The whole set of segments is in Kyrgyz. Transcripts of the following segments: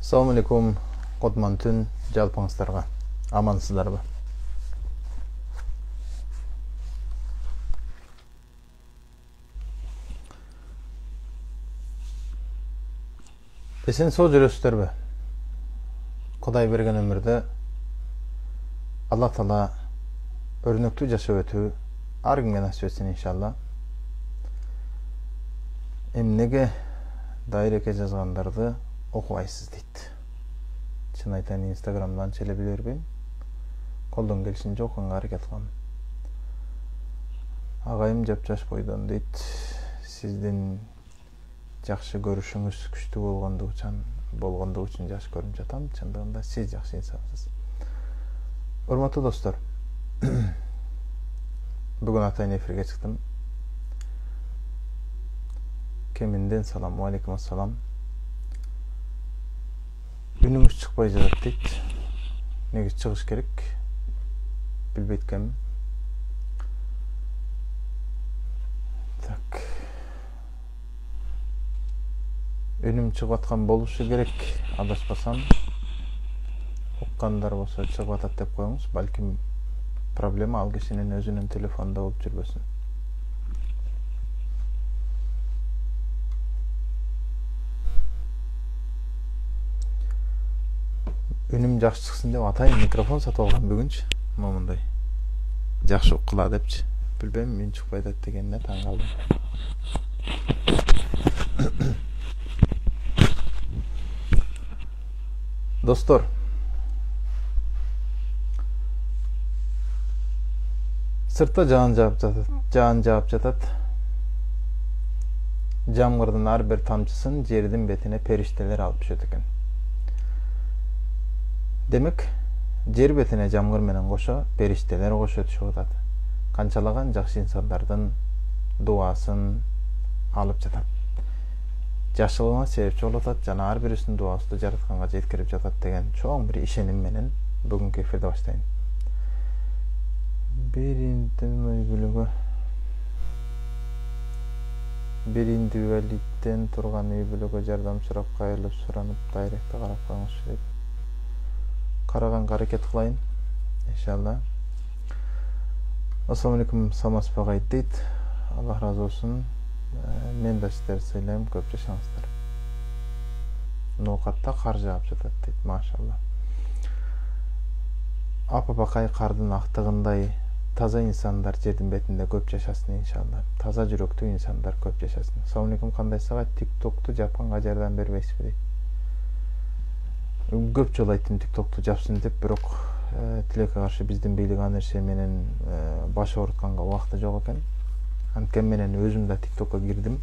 Assalamu alaikum, Kotman tün жалпыңыздарга. Амансыздарбы? Эсен соо жүрөсүздөрбү? Кудай берген өмүрдө Алла Таала өрнөктүү жашап өтүү ар кимге насип этсин иншалла. Эмнеге дайреке жазгандарды окубайсыз дейт. Чын айтайын, Инстаграмдан челе биле бербейм. Колдон келишинче окуганга аракет кылам. Агайым жапжаш бойдон дейт. Сиздин жакшы көрүшүңүз күчтүү болгондугу үчүн жакшы көрүнүп жатам. Чындыгында сиз жакшы инсансыз. Урматтуу достор, бүгүн атайын эфирге чыктым. Кеминден салам, алейкум ассалам. Үнүңүз чыкпай жатат дейт. Неге чыгыш керек? Билбейт экенмин. Так. Үнүм чыгып аткан болушу керек. Адашпасам, уккандар болсо чыгып атат деп коюңуз. Балким проблема ал кишинин өзүнүн телефонунда болуп жүрбөсүн. Үнүм жакшы чыксын деп атайын микрофон сатып алгам бүгүнчү. Момундай жакшы уккула депчи. Билбейм, мен чыкпай атат дегенине таң калдым. Достор, сыртта жаан жаап жатат. Жамгырдын ар бир тамчысын жердин бетине периштелер алып түшөт экен. Демек, жер бетине жамгыр менен кошо периштелер кошо түшүп атат. Канчалаган жакшы инсандардын дуасын алып жатат. Жашылыгына себепчи болуп атат жана ар бирисинин дуасы жаратканга жеткирип жатат деген чоң бир ишеним менен бүгүнкү эфирди баштайын. Бир индивидуалиттен турган үй бүлөгө жардам сурап кайрылып суранып дайректе карап коюңузчу дейт. Караганга аракет кылайын, иншалла. Ассаламу алейкум, Самаспагай дейт. Аллах разы болсун. Мен да сиздерди сыйлайм, көп жашаңыздар. Ноокатта кар жаап жатат дейт, машалла. Апа-бакай кардын актыгындай таза инсандар жердин бетинде көп жашасын иншалла. Таза жүрөктүү инсандар көп жашасын. Ассаламу алейкум, кандайсызга? TikTok'ту жапканга жардам бербейсизби дейт. Көп жолу айттым TikTok'ту жапсын деп, бирок тилекке каршы биздин бийлик аны нерсе менен баш оорутканга убакыты жок экен. Анткени менен өзүм да TikTok'ка кирдим.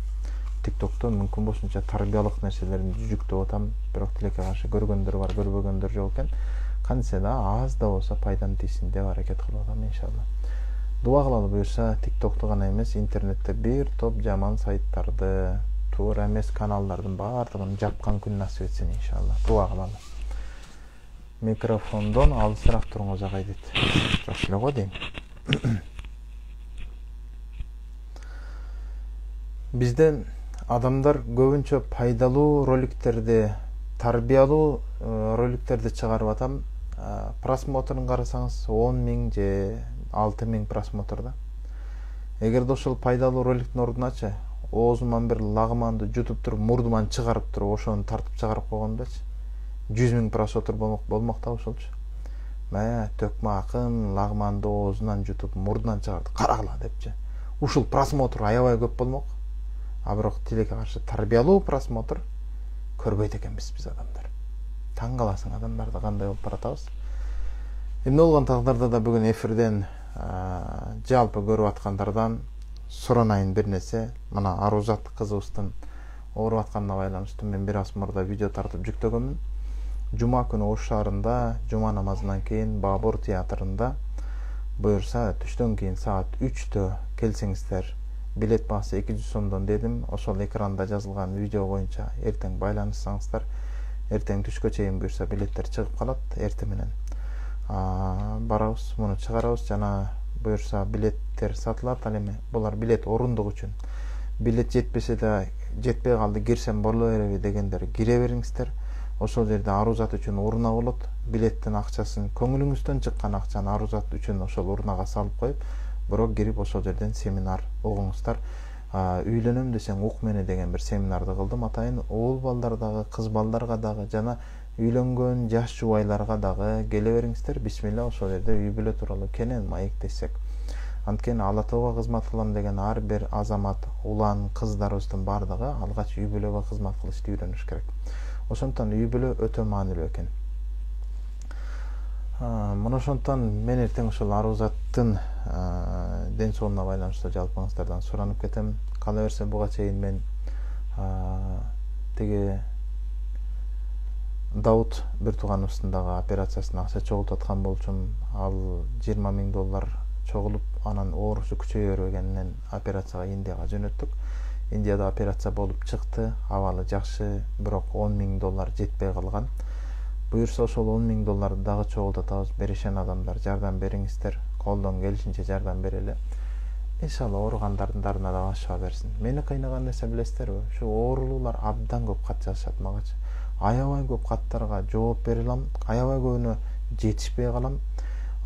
TikTok'то мүмкүн болушунча тарбиялык нерселерди жүктөп атам, бирок тилекке каршы көргөндөр бар, көрбөгөндөр жок экен. Кантсе да аз да болсо пайдам тийсин деп аракет кылып атам иншалла. Дуа кылалы буюрса, TikTok'ту гана эмес, интернетте бир топ жаман сайттарды, туура эмес каналдардын баардыгын жапкан күн насип этсин иншалла. Дуа кылалы. Микрофондон алысыраак туруңуз агай дейт. Жакшы эле го дейм. Бизде адамдар көбүнчө пайдалуу роликтерди, тарбиялуу роликтерди чыгарып атам. Просмотрун карасаңыз 10.000 же 6.000 просмотрда. Эгерде ошол пайдалуу роликтин ордуначы оозуман бир лагманды жутуп туруп, мурдуман чыгарып туруп, ошону тартып чыгарып койгондачы 100.000 просмотр болмок да ошолчу. Мая төкмө акын лагманды оозунан жутуп, мурдунан чыгарды, карагыла депчи. Ушул просмотр аябай көп болмок. А бирок тилекке каршы тарбиялуу просмотр көрбөйт экенбиз биз адамдар. Таң каласың адамдарды кандай болуп баратабыз. Эмне болгон тагдырда да бүгүн эфирден жалпы көрүп аткандардан суранайын бир нерсе. Мына Арузат кызыбыздын ооруп атканына байланыштуу мен бир аз мурда видео тартып жүктөгөнмүн. Жума күнү Ош шаарында жума намазынан кийин Бабур театрында буюрса түштөн кийин саат 3-тө келсеңиздер, билет баасы 200 сомдон дедим. Ошол экранда жазылган видео боюнча эртең байланышсаңыздар, эртең түшкө чейин буюрса билеттер чыгып калат. Эртең менен барабыз, муну чыгарабыз жана буюрса билеттер сатылат. Ал эми булар билет орундук үчүн. Билет жетпесе да жетпей калды, кирсем боло береби дегендер кире бериңиздер. ошол жерде арузат үчүн урна болот. Билеттин акчасын, көңүлүңүздөн чыккан акчаны арузат үчүн ошол урнага салып коюп, бирок кирип ошол жерден семинар угуңуздар. Үйлөнөм десең ук мени деген бир семинарды кылдым. Атайын уул балдар дагы, кыз балдарга дагы жана үйлөнгөн жаш жубайларга дагы келе бериңиздер. Бисмилла, ошол жерде үй бүлө тууралуу кенен маектешсек. Анткени Ала Тобого кызмат кылам деген ар бир азамат, улан, кыздарыбыздын бардыгы алгач үй бүлөгө кызмат кылышты үйрөнүш керек. Ошондон үй бүлө өтө маанилүү экен. Мына ошондон мен эртең ошол арузаттын ден соолугуна байланыштуу жалпыңыздардан суранып кетем. Кала берсе буга чейин мен тиги Дауд бир тууганыбыздын дагы операциясына акча чогултуп аткан болчумун. Ал $20,000 чогулуп, анан оорусу күчөйө бергенинен операцияга Индияга жөнөттүк. Индияда операция болуп чыкты, абалы жакшы, бирок $10,000 жетпей калган. Буюрса ошол $10,000 дагы чогултатабыз. Беришен адамдар, жардам бериңиздер, колдон келишинче жардам берели. Иншалла ооругандардын дарына дагы шифа берсин. Мени кыйнаган нерсе билесиздерби? Ушу оорулуулар абдан көп кат жазышат магачы. Аябай көп каттарга жооп бере алам, аябай көбүнө жетишпей калам.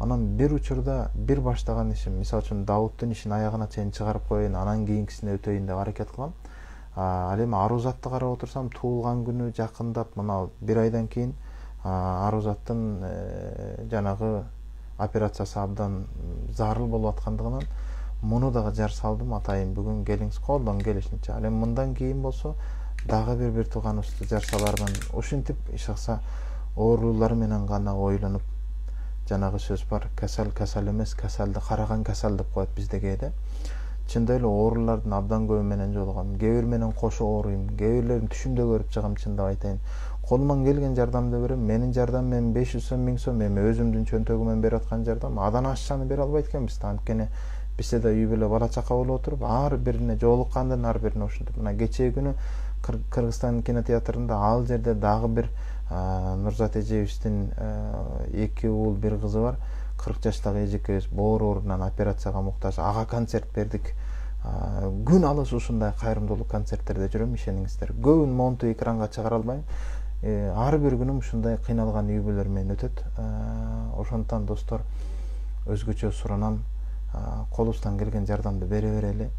Анан бир учурда бир баштаган ишим, мисалы үчүн Дауддун ишин аягына чейин чыгарып коеюн, анан кийинкисине өтөйүн деп аракет кылам. Ал эми Арузатты карап отурсам, туулган күнү жакындап, мына бир айдан кийин Арузаттын жанагы операциясы абдан зарыл болуп аткандыгынан муну дагы жар салдым. Атайын бүгүн келиңиз, колдон келишинче. Ал эми мындан кийин болсо дагы бир тууганыбызды жар салармын. Ушинтип ишакса оорулар менен гана ойлонуп, жанагы сөз бар, касал касал эмес, касалды караган касал деп коет бизде кээде. Чындап эле оорулардын абдан көбү менен жолугам. Кээ бир менен кошо ооруйм, кээ бирлерин түшүмдө көрүп чыгам, чындап айтайын. Колуман келген жардамды берем. Менин жардам мен 500 сом, 1000 сом, эми өзүмдүн чөнтөгүмөн берип аткан жардам. Адан ашчаны бере албайт экенбиз. Анткени бизде да үй бүлө бала чака болуп отуруп, ар бирине жолуккандын ар бирине ушинтип. Мына кечээ күнү Кыргызстан кинотеатрында ал жерде дагы бир Нурзат эжебиздин 2 уул, 1 кызы бар. 40 жаштагы эжекебиз боор оорунан операцияга муктаж. Ага концерт бердик. Күн алыс ушундай кайрымдуулук концерттерде жүрөм, ишениңиздер. Көбүн монту экранга чыгара албайм. Ар бир күнүм ушундай кыйналган үй бүлөлөр менен өтөт. Ошондон достор, өзгөчө суранам, колубуздан келген жардамды бере берели.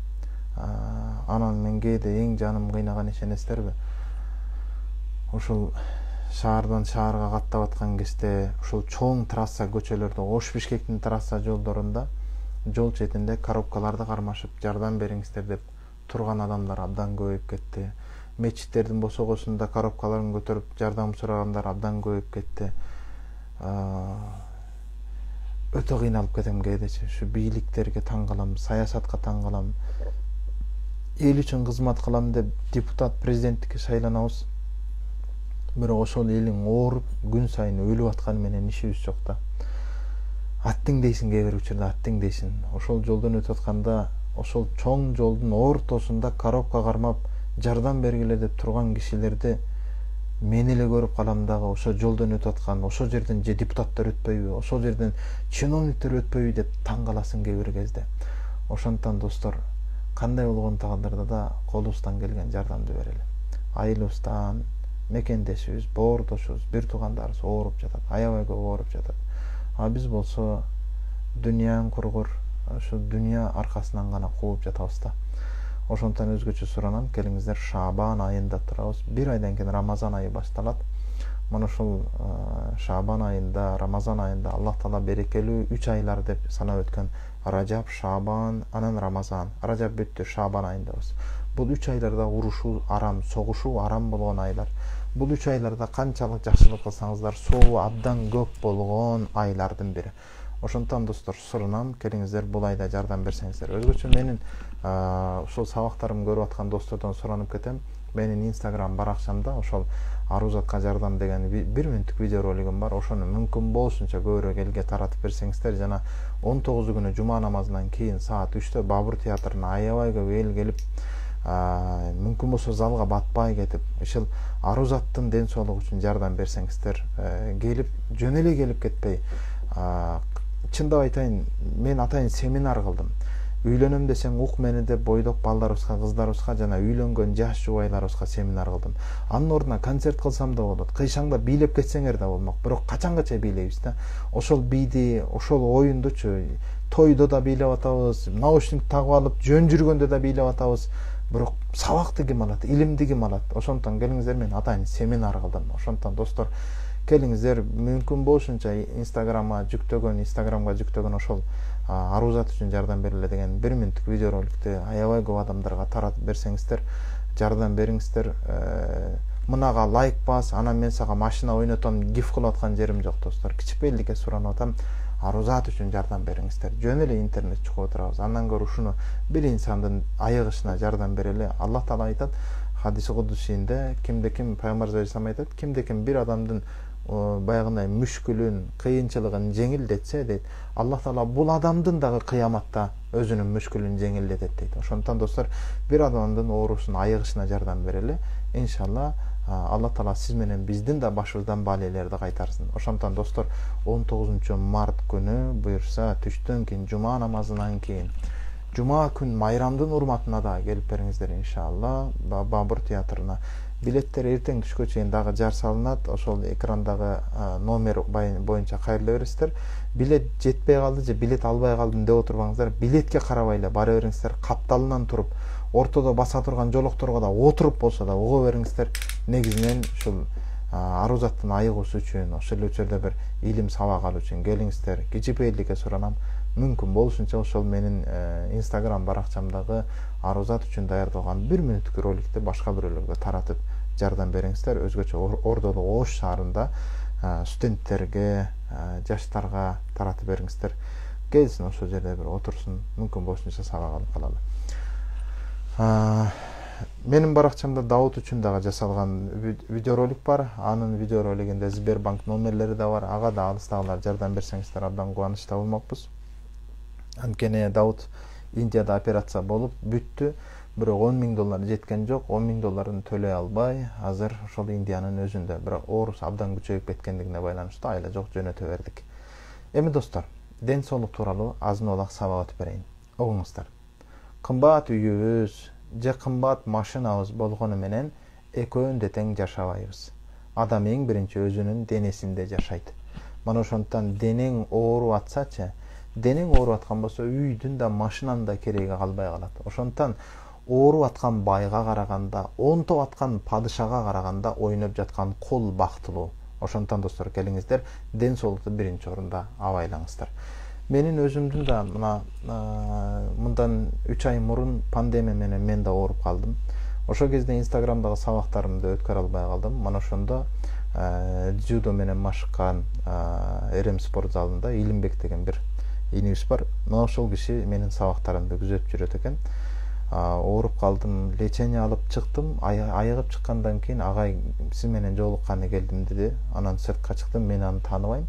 Анан мен кээде эң жаным кыйнаган ишенесиздерби? Ушул шаардан шаарга каттап аткан кезде ушул чоң трасса көчөлөрдө, Ош-Бишкектин трасса жолдорунда, жол четинде коробкаларды кармашып жардам бериңиздер деп турган адамдар абдан көбөйүп кетти. Мечиттердин босогосунда коробкаларын көтөрүп жардам сурагандар абдан көбөйүп кетти. Өтө кыйналып кетем кээдечи. Ушу бийликтерге таң калам, саясатка таң калам. Эл үчүн кызмат кылам деп депутат, президенттикке шайланабыз. Бирок ошол элиң ооруп, күн сайын өлүп атканы менен ишибиз жок да. Аттың дейсиң, кээ бир учурда аттың дейсиң. Ошол жолдон өтүп атканда, ошол чоң жолдун ортосунда коробка кармап жардам бергиле деп турган кишилерди мен эле көрүп калам дагы. Ошол жолдон өтүп аткан, ошол жерден же депутаттар өтпөйбү, ошол жерден чиновниктер өтпөйбү деп таң каласың кээ бир кезде. Ошондон достор, кандай болгон тагдырда да колубуздан келген жардамды берели. Айылыбыздан, мекендешибиз, боордошубуз, бир туугандарыбыз ооруп жатат, аябай көп ооруп жатат. Биз болсо дүйнөнүн кургур, ушу дүйнө аркасынан гана кууп жатабыз да. Ошондон өзгөчө суранам, келиңиздер, Шаабан айында турабыз. Бир айдан кийин Рамазан айы башталат. Мына ушул Шаабан айында, Рамазан айында Аллах Таала берекелүү 3 айлар деп санап өткөн. Ражаб, Шаабан, анан Рамазан. Ражаб бүттү, Шаабан айындабыз. Бул 3 айларда урушуу арам, согушуу арам болгон айлар. Бул 3 айларда канчалык жакшылык кылсаңыздар, сообу абдан көп болгон айлардын бири. Ошондон достор, суранам, келиңиздер, бул айда жардам берсеңиздер. Өзгөчө менин ошол сабактарымды көрүп аткан достордон суранып кетем. Менин Instagram баракчамда ошол Арузатка жардам деген 1 мүнөттүк видеоролигим бар. Ошону мүмкүн болушунча көбүрөөк элге таратып берсеңиздер, жана 19 күнү жума намазынан кийин саат 3-тө Бабур театрына аябай көп эл келип, мүмкүн болсо залга батпай кетип, ушул Арузаттын ден соолугу үчүн жардам берсеңиздер, келип, жөн эле келип кетпей, чындап айтайын, мен атайын семинар кылдым. Үйлөнөм десең ук мени деп бойдок балдарыбызга, кыздарыбызга жана үйлөнгөн жаш жубайларыбызга семинар кылдым. Анын ордуна концерт кылсам да болот. Кыйшаңда бийлеп кетсеңер да болмок. Бирок качангаcha бийлейбиз да. Ошол бийди, ошол оюндучу тойдо да бийлеп атабыз, наушник тагып алып жөн жүргөндө да бийлеп атабыз. Бирок сабакты ким алат, илимди ким алат? Ошондон келиңиздер, мен атайын семинар кылдым. Ошондон достор, келиңиздер, мүмкүн болушунча Инстаграмга жүктөгөн ошол арузат үчүн жардам бериле деген 1 мүнөттүк видеороликти аябай көп адамдарга таратып берсеңиздер, жардам бериңиздер. Мынага лайк бас, анан мен сага машина ойнотом, гиф кылып аткан жерим жок достор. Кичипелдикке суранып атам. Арузат үчүн жардам бериңиздер. Жөн эле интернет чукуп отурабыз. Андан көрө ушуну бир инсандын айыгышына жардам берели. Аллах Таала айтат, хадиси кудусинде, кимде ким пайгамбар алейхисалам айтат, кимде ким бир адамдын баягындай мүшкүлүн, кыйынчылыгын жеңилдетсе дейт, Аллах Таала бул адамдын дагы кыяматта өзүнүн мүшкүлүн жеңилдетет дейт. Ошондон достор, бир адамдын оорусун айыгышына жардам берели. Иншалла Аллах Таала сиз менен биздин да башыбыздан баалээлерди кайтарсын. Ошондон достор, 19 март күнү буюрса түштөн кийин, жума намазынан кийин, жума күн майрамдын урматына да келип бериңиздер иншалла. Бабур театрына билеттер эртең түшкө чейин дагы жар салынат. Ошол экрандагы номер боюнча кайрыла бересиздер. Билет жетпей калды же билет албай калдым деп отурбаңыздар. Билетке карабай эле бара бериңиздер. Капталынан туруп, ортодо баса турган жолокторго да отуруп болсо да ого бериңиздер. Негизинен ушул арузаттын айыгуусу үчүн, ошол эле учурда бир илим сабак алуу үчүн келиңиздер. Кичипейилдикке суранам. Мүмкүн болушунча ошол менин Instagram баракчамдагы арузат үчүн даярдалган 1 мүнөттүк роликти башка бирөөлөргө таратып жардам бериңиздер. Өзгөчө Ордолу Ош шаарында студенттерге, жаштарга таратып бериңиздер. Келсин ошол жерде бир отурсун, мүмкүн болушунча сабак алып калалы. Менин баракчамда Давут үчүн дагы жасалган видеоролик бар. Анын видеоролигинде Сбербанк номерлери да бар. Ага да алыстагылар жардам берсеңиздер абдан кубанычта болмокпуз. Анткени Давут Индияда операция болуп бүттү. Бирок $10,000 жеткен жок. $10,000 төлөй албай, азыр ошол Индиянын өзүндө. Бирок оорусу абдан күчөйүп кеткендигине байланыштуу айла жок жөнөтө бердик. Эми достор, ден соолук тууралуу азын олак сабак өтүп берейин. Оңуңуздар. Кымбат үйүбүз же кымбат машинабыз болгону менен экөөнү да тең жашабайбыз. Адам эң биринчи өзүнүн денесинде жашайт. Мана ошондон денең ооруп атсачы, денең ооруп аткан болсо үйдүн да машинанын да кереги калбай калат. Ошондон ооруп аткан байга караганда, онтоп аткан падышага караганда ойноп жаткан кул бактылуу. Ошондон достор, келиңиздер, ден соолукту биринчи орунда абайлаңыздар. Менин өзүмдүн да мындан 3 ай мурун пандемия менен мен да ооруп калдым. Ошол кезде Инстаграмдагы сабактарымды өткөрө албай калдым. Мана ошондо дзюдо менен машыккан Эрем спорт залында Илимбек деген бир инибиз бар. Мына ошол киши менин сабактарымды күзөтүп жүрөт экен. Ооруп калдым, лечение алып чыктым. Айыгып чыккандан кийин агай сиз менен жолукканы келдим деди. Анан сыртка чыктым, мен аны тааныбайм.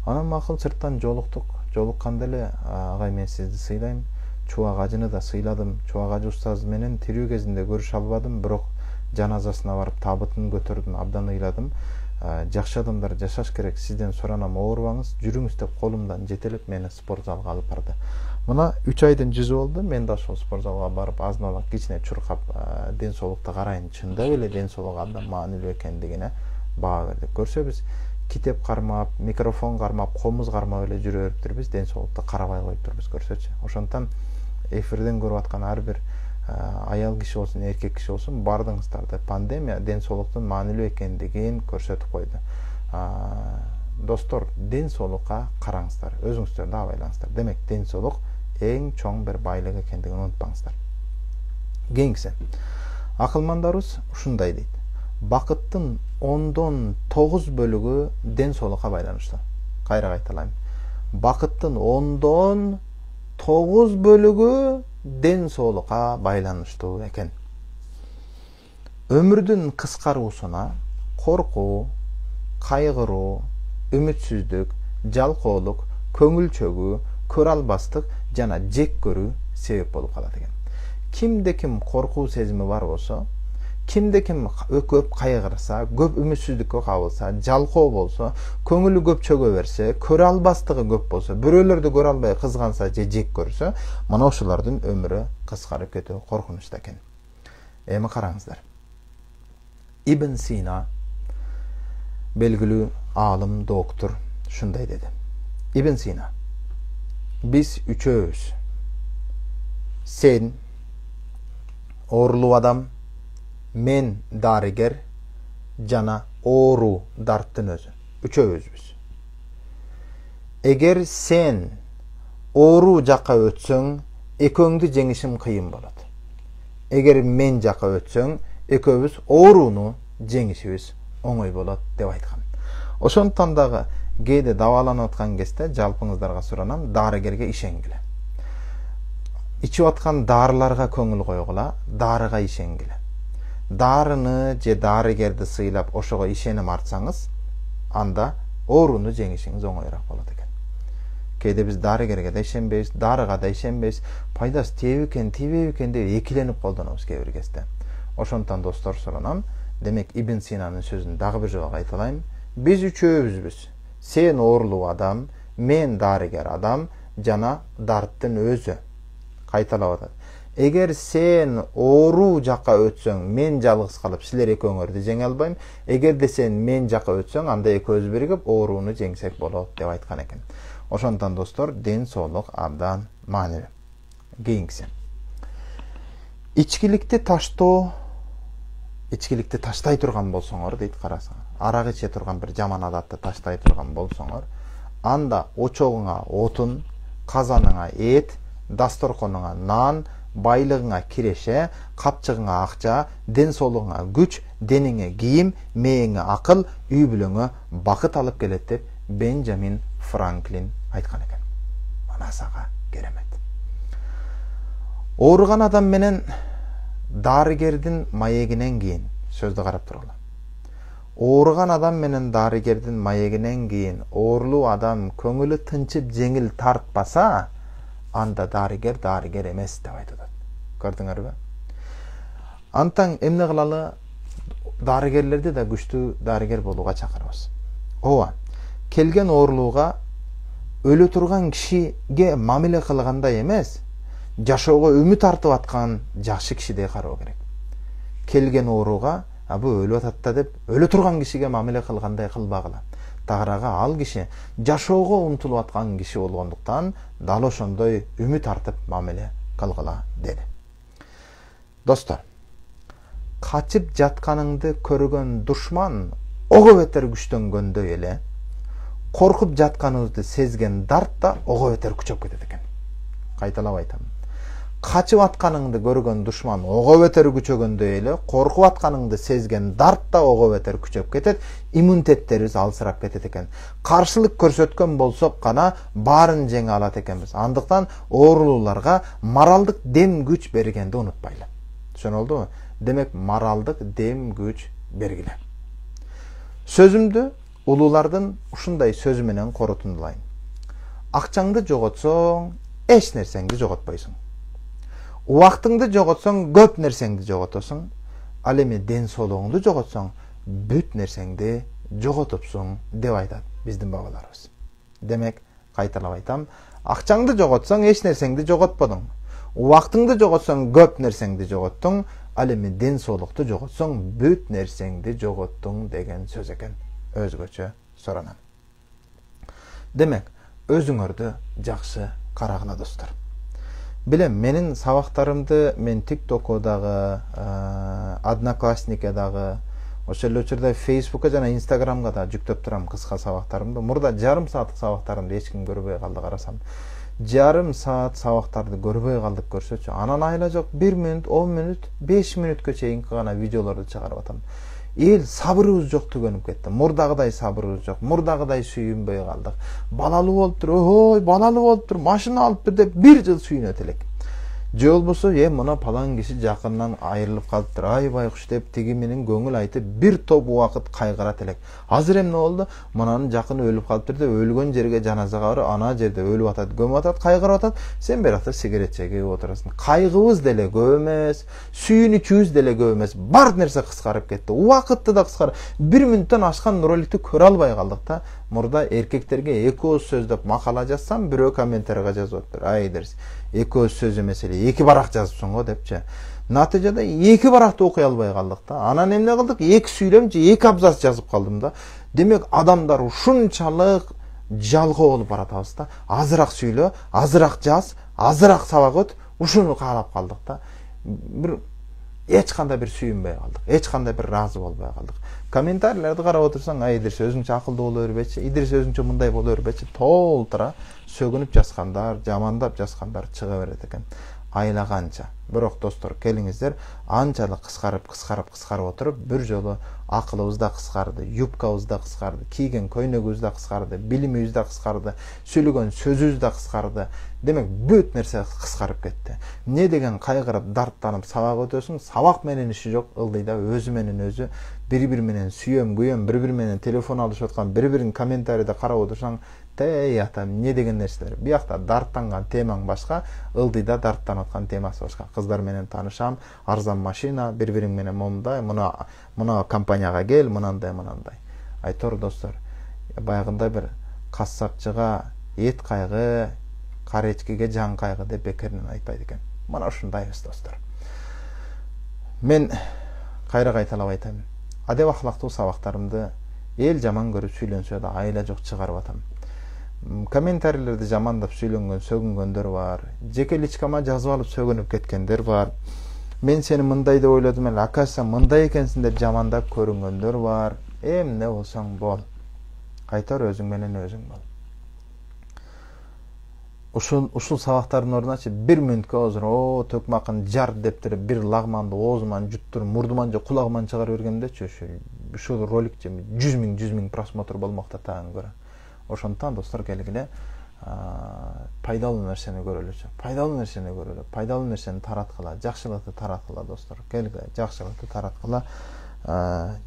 Анан макул сырттан жолуктук. Жолукканда эле агай, мен сизди сыйлайм. Чубак ажыны да сыйладым. Чубак ажы устаз менен тирүү кезинде көрүшө албадым, бирок жаназасына барып табытын көтөрдүм, абдан ыйладым. Жакшы адамдар жашаш керек. Сизден суранам, оорубаңыз, жүрүңүз деп колумдан жетелеп мени спорт залга алып барды. Мына 3 айдын жүзү болду. Мен да ошол спорт залга барып азын олак кичине чуркап ден соолукту карайын. Чындап эле ден соолук абдан маанилүү экендигине баа бердик. Көрсөбүз китеп кармап, микрофон кармап, комуз кармап эле жүрө бериптирбиз, ден соолукту карабай коюптурбуз, көрсөчү. Ошондон эфирден көрүп аткан ар бир аял киши болсун, эркек киши болсун, бардыңыздарды. Пандемия ден соолуктун маанилүү экендигин көрсөтүп койду. Достор, ден соолукка караңыздар, өзүңүздөрдү абайлаңыздар. Демек, ден соолук эң чоң бир байлык экендигин унутпаңыздар. Кийинкиси, акылмандарыбыз ушундай дейт: бакыттын 9 бөлүгү ден соолукка байланыштуу. Кайра кайталайм. Бакыттын 9 бөлүгү ден соолукка байланыштуу экен. Өмүрдүн кыскаруусуна коркуу, кайгыруу, үмүтсүздүк, жалкоолук, көңүл чөгүү, көрө албастык жана жек көрүү себеп болуп калат экен. Кимде ким коркуу сезими бар болсо, кимде ким көп кайгырса, көп үмүтсүздүккө кабылса, жалкоо болсо, көңүлү көп чөгө берсе, көрө албастыгы көп болсо, бирөөлөрдү көрө албай кызганса же жек көрсө, мына ошолордун өмүрү кыскарып кетүү коркунучтуу экен. Эми караңыздар. Ибн Сина белгилүү аалым, доктор шундай деди. Ибн Сина: биз үчөөбүз, сен оорулуу адам, мен дарыгер жана оору дарттын өзү. Үчөөбүзбүз. Эгер сен оору жакка өтсөң, экөөңдү жеңишим кыйын болот. Эгер мен жакка өтсөң, экөөбүз ооруну жеңишибиз оңой болот деп айткан. Ошондуктан дагы кээде дабааланып аткан кезде жалпыңыздарга суранам, дарыгерге ишенгиле. Ичип аткан дарыларга көңүл койгула, дарыга ишенгиле. Дарыны же дарыгерди сыйлап ошого ишеним артсаңыз, анда ооруну жеңишиңиз оңоюраак болот экен. Кээде биз дарыгерге да ишенбейбиз, дарыга да ишенбейбиз, пайдасы тийиби экен, тийбейби экен деп экиленип колдонобуз кээ бир кезде. Ошондуктан достор суранам, демек Ибн Синанын сөзүн дагы бир жолу кайталайм. Биз үчөөбүзбүз. Сен оорулуу адам, мен дарыгер адам жана дарттын өзү. Кайталап атат. Эгер сен оору жакка өтсөң, мен жалгыз калып силер экөөңөрдү жеңе албайм. Эгерде сен мен жакка өтсөң, анда экөөбүз биригип ооруну жеңсек болот деп айткан экен. Ошондон достор, ден соолук абдан маанилүү. Кийинкиси. Ичкиликти таштоо, ичкиликти таштай турган болсоңор дейт, карасаңар. Арак иче турган бир жаман адатты таштай турган болсоңор, анда очогуңа отун, казаныңа эт, дасторконуңа нан, байлыгыңа киреше, капчыгыңа акча, ден соолугуңа күч, дениңе кийим, мээңе акыл, үй бүлөңө бакыт алып келет деп Бенджамин Франклин айткан экен. Мана сага керемет. Ооруган адам менен дарыгердин маегинен кийин сөздү карап тургула. Ооруган адам менен дарыгердин маегинен кийин оорулуу адам көңүлү тынчып жеңил тартпаса, анда дарыгер эмес деп айтат. Көрдүңөрбү? Антаң эмне кылалы, дарыгерлерди да күчтүү дарыгер болууга чакырабыз. Ооба, келген оорулууга өлө турган кишиге мамиле кылгандай эмес, жашоого үмүт артып аткан жакшы кишидей кароо керек. Келген ооруга, бу өлүп атат да деп, өлө турган кишиге мамиле кылгандай кылбагыла. Тагырага ал киши жашоого умтулуп аткан киши болгондуктан, дал ошондой үмүт артып мамиле кылгыла деди. Достор, качып жатканыңды көргөн душман ого бетер күчтөнгөндөй эле, коркуп жатканыңызды сезген дарт да ого бетер күчөп кетет экен. Кайталап айтам. Качып атканыңды көргөн душман ого бетер күчөгөндөй эле, коркуп атканыңды сезген дарт да ого бетер күчөп кетет, иммунитеттерибиз алсырап кетет экен. Каршылык көрсөткөн болсок гана баарын жеңе алат экенбиз. Андыктан оорулууларга моралдык дем күч бергенди унутпайлы. Түшүнүлдүбү? Демек, моралдык дем күч бергиле. Сөзүмдү улуулардын ушундай сөзү менен корутундулайм. Акчаңды жоготсоң, эч нерсеңди жоготпойсуң. Убактыңды жоготсоң, көп нерсеңди жоготосуң. Ал эми ден соолугуңду жоготсоң, бүт нерсеңди жоготупсуң деп айтат биздин бабаларыбыз. Демек, кайталап айтам, акчаңды жоготсоң, эч нерсеңди жоготподуң. Убактыңды жоготсоң, көп нерсеңди жоготтуң. Ал эми ден соолукту жоготсоң, бүт нерсеңди жоготтуң деген сөз экен. Өзгөчө соронам. Демек, өзүңөрдү жакшы карагыла достор. Билем, менин сабактарымды мен TikTok'о дагы, Одноклассникке дагы, ошол эле учурда Facebook'ка жана Instagram'га да жүктөп турам кыска сабактарымды. Мурда жарым сааттык сабактарымды эч ким көрбөй калды, карасам. Жарым саат сабактарды көрбөй калдык көрсөчү. Анан айла жок 1 мүнөт, 10 мүнөт, 5 мүнөткө чейинки гана видеолорду чыгарып атам. Эл сабырыбыз жок түгөнүп кетти. Мурдагыдай сабырыбыз жок. Мурдагыдай сүйүнбөй калдык. Балалуу болуп тур, ой, балалуу болуп тур, машина алып бер деп 1 жыл сүйүнөт элек. же болбосо мына палан киши жакындан айрылып калыптыр, ай байкуш деп тиги менен көңүл айтып бир топ убакыт кайгырат элек. Азыр эмне болду? Мынанын жакыны өлүп калыптыр деп өлгөн жерге жаназага барып, ана жерде өлүп атат, көмүп атат, кайгырып атат. Сен биякта сигарет чегип отурасың. Кайгыбыз деле көп эмес, сүйүнүчүбүз деле көп эмес. Бар нерсе кыскарып кетти. Убакытты да кыскарып. 1 мүнөттөн ашкан роликти көрө албай калдык да. Мурда эркектерге 2 сөз деп макала жазсам, бирөө комментарийге жазып атыптыр. Ай дерс, 2 сөз эмес эле, 2 барак жазыпсың го депчи. Натыйжада 2 баракты окуй албай калдык да. Анан эмне кылдык? 2 сүйлөмчү 2 абзац жазып калдым да. Демек адамдар ушунчалык жалгоо болуп баратабыз да. Азыраак сүйлө, азыраак жаз, азыраак сабак өт, ушуну каалап калдык да. Бир эч кандай бир сүйүнбөй калдык, эч кандай бир ыраазы болбой калдык. Комментарийлерди карап отурсаң, ай Идирис өзүңчө акылдуу боло бербечи, Идирис өзүңчө мындай боло бербечи, толтура сөгүнүп жазгандар, жамандап жазгандар чыга берет экен. Айлаганча. Бирок достор, келиңиздер, анчалык кыскарып отуруп, бир жолу акылыбыз да кыскарды, юбкабыз да кыскарды, кийген көйнөгүбүз да кыскарды, билимибиз да кыскарды, сөйлөгөн сөзүбүз да кыскарды. Демек, бүт нерсе кыскарып кетти. Не деген кайгырып, дарттанып сабак өтөсүң, сабак менен иши жок, ылдыйда өзү менен өзү бири-бири менен сүйөм, күйөм, бири-бири менен телефон алышып аткан, бири-бирин комментарийде карап отурсаң, тей атам, не деген нерселер. Биякта дарттанган темаң башка, ылдыйда дарттанып аткан темасы башка. Кыздар менен таанышам, арзан машина, бири-бириң менен момундай, мына компанияга кел, мынандай. Айтор достор, баягындай бир кассапчыга эт кайгы, каречкиге жан кайгы деп бекеринен айтпайт экен. Мына ушундайбыз достор. Мен кайра кайталап айтам. Адеп ахлактуу сабактарымды эл жаман көрүп сүйлөнсө да айла жок чыгарып атам. Комментарийлерди жамандап сүйлөнгөн, сөгүнгөндөр бар. Жеке личкама жазып алып сөгүнүп кеткендер бар. Мен сени мындай деп ойлодум эле, акаса мындай экенсиң деп жамандап көрүнгөндөр бар. Эмне болсоң бол. Кайтар өзүң менен өзүң бол. Ушул сабактардын ордуначы 1 мүнөткө озур, төкмакын жар дептир, бир лагманды оозуман жуттур, мурдуман же кулагыман чыгарып бергендечи, ушул ролик 100 000 просмотр болмокта тагын көрө. Ошондон достор келгиле пайдалуу нерсени көрөлүчү. Пайдалуу нерсени тараткыла, жакшылыкты тараткыла достор. Келгиле жакшылыкты тараткыла,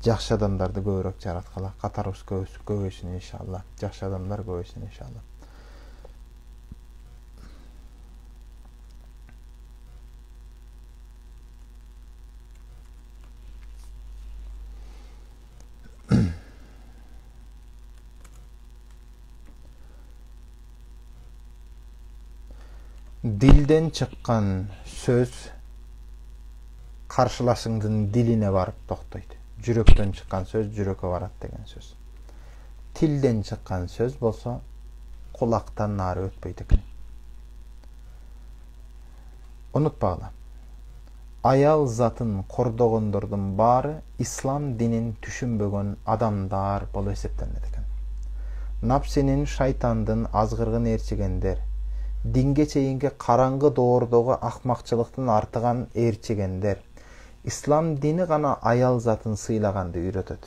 жакшы адамдарды көбүрөөк жараткыла. Катарыбыз көбөйсүн иншалла. Жакшы адамдар көбөйсүн иншалла. Дилден чыккан сөз каршылашыңдын дилине барып токтойт. Жүрөктөн чыккан сөз жүрөккө барат деген сөз. Тилден чыккан сөз болсо кулактан нары өтпөйт экен. Унутпагыла. Аял затын кордогондордун баары ислам динин түшүнбөгөн адамдар болуп эсептелет экен. Напсинин, шайтандын азгыргын ээрчигендер, динге чейинки караңгы доордогу акмакчылыктын артыган ээрчигендер, ислам дини гана аял затын сыйлаганды үйрөтөт.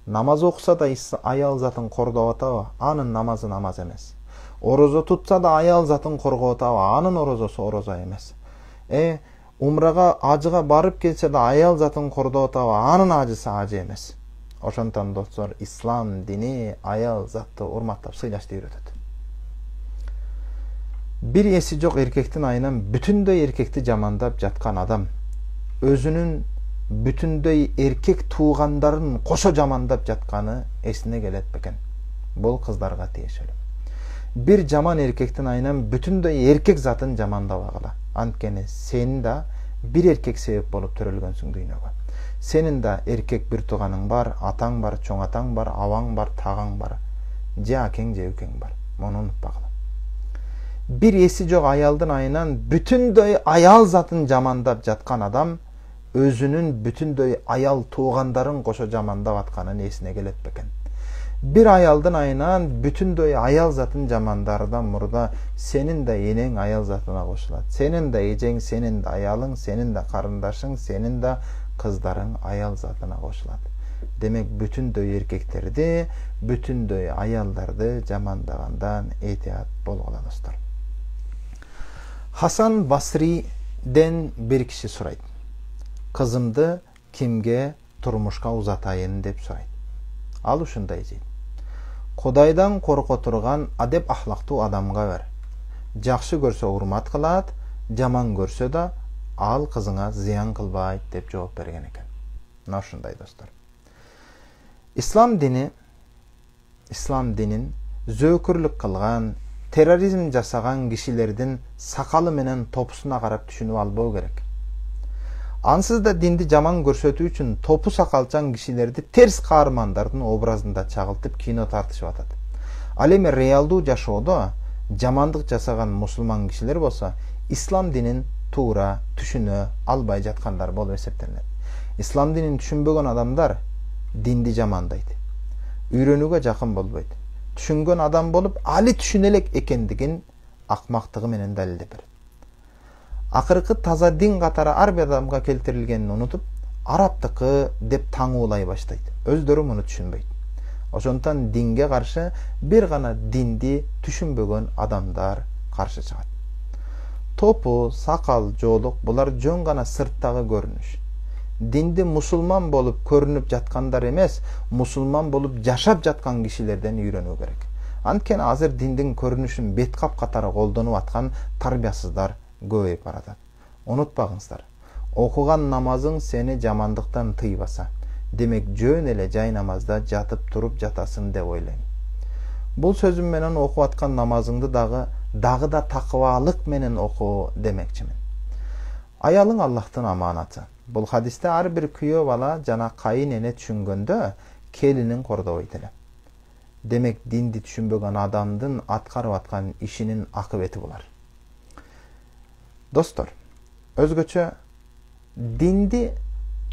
Намаз окуса да аял затын кордоп атабы, анын намазы намаз эмес. Орозо тутса да аял затын коргоп атабы, анын орозосу орозо эмес. Умрага, ажыга барып келсе да аял затын кордоп атабы, анын ажысы ажы эмес. Ошондон достор, ислам дини аял затты урматтап сыйлашты үйрөтөт. Бир эси жок эркектин айынан бүтүндөй эркекти жамандап жаткан адам өзүнүн бүтүндөй эркек туугандарын кошо жамандап жатканы эсине келет бекен. Бул кыздарга тиешелүү. Бир жаман эркектин айынан бүтүндөй эркек затын жамандабагыла. Анткени сен да бир эркек себеп болуп төрөлгөнсүң дүйнөгө. Сенин да эркек бир тууганың бар, атаң бар, чоң атаң бар, абаң бар, тагың бар. Же акең же үкең бар. Муну унутпагыла. Бир эси жок аялдын айынан бүтүндөй аял затын жамандап жаткан адам өзүнүн бүтүндөй аял туугандарын кошо жамандап атканын эсине келет бекен. Бир аялдын айынан бүтүндөй аял затын жамандардан мурда сенин да энең аял затына кошулат. Сенин да эжең, сенин да аялың, сенин да карындашың, сенин да кыздарың аял затына кошулат. Демек бүтүндөй эркектерди, бүтүндөй аялдарды жамандагандан этият болгула достор. Хасан Басри Кудайден бир киши сурайт. Кызымды кимге турмушка узатайын деп сурайт. Ал ушундай дейт. Кудайдан корко турган адеп ахлактуу адамга бер. Жакшы көрсө урмат кылат, жаман көрсө да ал кызыңа зыян кылбайт деп жооп берген экен. Мына ушундай достор. Ислам динин зөөкүрлүк кылган, терроризм жасаган кишилердин сакалы менен топусуна карап түшүнүп албоо керек. Ансыз да динди жаман көрсөтүү үчүн топу сакалчан кишилерди терс каармандардын образында чагылтып кино тартышып атат. Ал эми реалдуу жашоодо жамандык жасаган мусулман кишилер болсо ислам динин туура түшүнө албай жаткандар болуп эсептелет. Ислам динин түшүнбөгөн адамдар динди жамандайт. Үйрөнүүгө жакын болбойт. Түшүнгөн адам болуп, али түшүнө элек экендигин акмактыгы менен далилдеп берет. Акыркы таза дин катары ар бир адамга келтирилгенин унутуп, арабтыкы деп таңуулай баштайт. Өздөрү муну түшүнбөйт. Ошондуктан динге каршы бир гана динди түшүнбөгөн адамдар каршы чыгат. Топу, сакал, жоолук булар жөн гана сырттагы көрүнүш. Динди мусулман болуп көрүнүп жаткандар эмес, мусулман болуп жашап жаткан кишилерден үйрөнүү керек. Анткени азыр диндин көрүнүшүн беткап катары колдонуп аткан тарбиясыздар көбөйүп баратат. Унутпагыңыздар. Окуган намазың сени жамандыктан тыйбаса, демек жөн эле жай намазда жатып туруп жатасың деп ойлойм. Бул сөзүм менен окуп аткан намазыңды дагы да такыбалык менен оку демекчимин. Аялың Аллахтын аманаты. Бул хадисте ар бир күйөө бала жана кайын эне түшүнгөндө келинин кордобойт эле. Демек динди түшүнбөгөн адамдын аткарып аткан ишинин акыбети булар. Достор, өзгөчө динди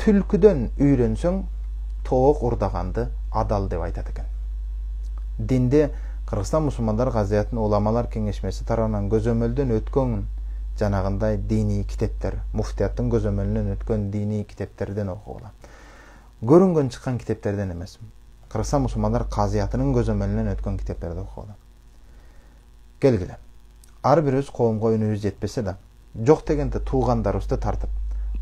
түлкүдөн үйрөнсөң тоок урдаганды адал деп айтат экен. Динди Кыргызстан мусулмандар газетинин уламалар кеңешмеси тарабынан көзөмөлдөн өткөн жанагындай диний китептер, муфтияттын көзөмөлүнөн өткөн диний китептерден окугула. Көрүнгөн чыккан китептерден эмес. Кыргызстан мусулмандар казиятынын көзөмөлүнөн өткөн китептерди окугула. Келгиле. Ар бирибиз коомго үнүбүз жетпесе да, жок дегенде туугандарыбызды тартып,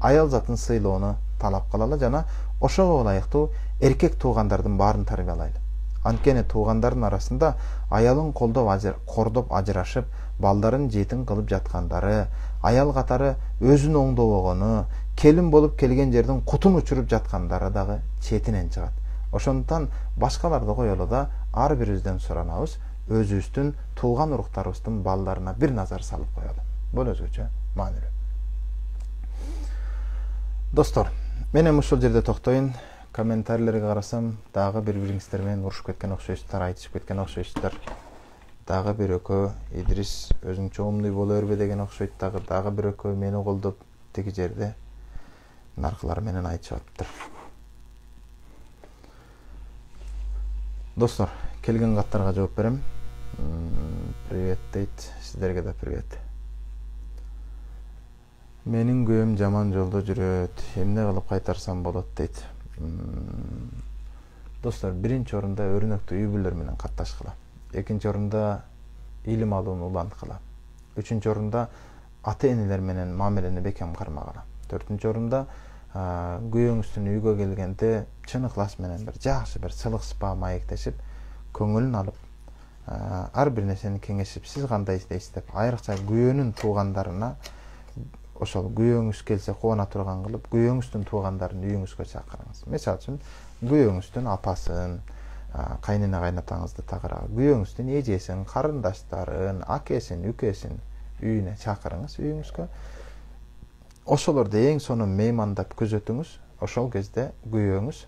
аял затын сыйлоону талап кылалы жана ошого ылайыктуу эркек туугандардын баарын тарбиялайлы. Анткени туугандардын арасында аялын кордоп ажырашып, балдарын жетим кылып жаткандары, аял катары өзүн оңдобогону, келин болуп келген жердин кутун учуруп жаткандары дагы четинен чыгат. Ошондуктан башкаларды коелу да ар бирибизден суранабыз, өзүбүздүн тууган уруктарыбыздын балдарына бир назар салып коелу. Бул өзгөчө маанилүү. Достор, мен эми ушул жерде токтойм. Комментарийлерге карасам, дагы бири-бириңиздер менен урушуп кеткен окшойсуздар, айтышып кеткен окшойсуздар. Дагы бир экөө Идрис өзүңчө умный боло бербе деген окшойт, дагы бир экөө мени колдоп тиги жерде наркылар менен айтышып атыптыр. Достор, келген каттарга жооп берем. Привет дейт, сиздерге да привет. Менин күйөөм жаман жолдо жүрөт, эмне кылып кайтарсам болот дейт. Достор, биринчи орунда өрнөктүү үй бүлөлөр менен катташкыла. Экинчи орунда илим алууну уланткыла. Үчүнчү орунда ата-энелер менен мамилени бекем кармагыла. Төртүнчү орунда күйөөңүздүн үйгө келгенде чын ыклас менен бир жакшы бир сылык сыпаа маектешип, көңүлүн алып, ар бир нерсени кеңешип, сиз кандай издейсиз деп, айрыкча күйөөнүн туугандарына ошол күйөөңүз келсе кубана турган кылып, күйөөңүздүн туугандарын үйүңүзгө чакырыңыз. Мисалы үчүн, күйөөңүздүн апасын, кайнене кайнатаңызды тагыра, күйөөңүздүн эжесин, карындаштарын, акесин, үкесин үйүнө чакырыңыз, үйүңүзгө. Ошолорду эң сонун меймандап күзөтүңүз. Ошол кезде күйөөңүз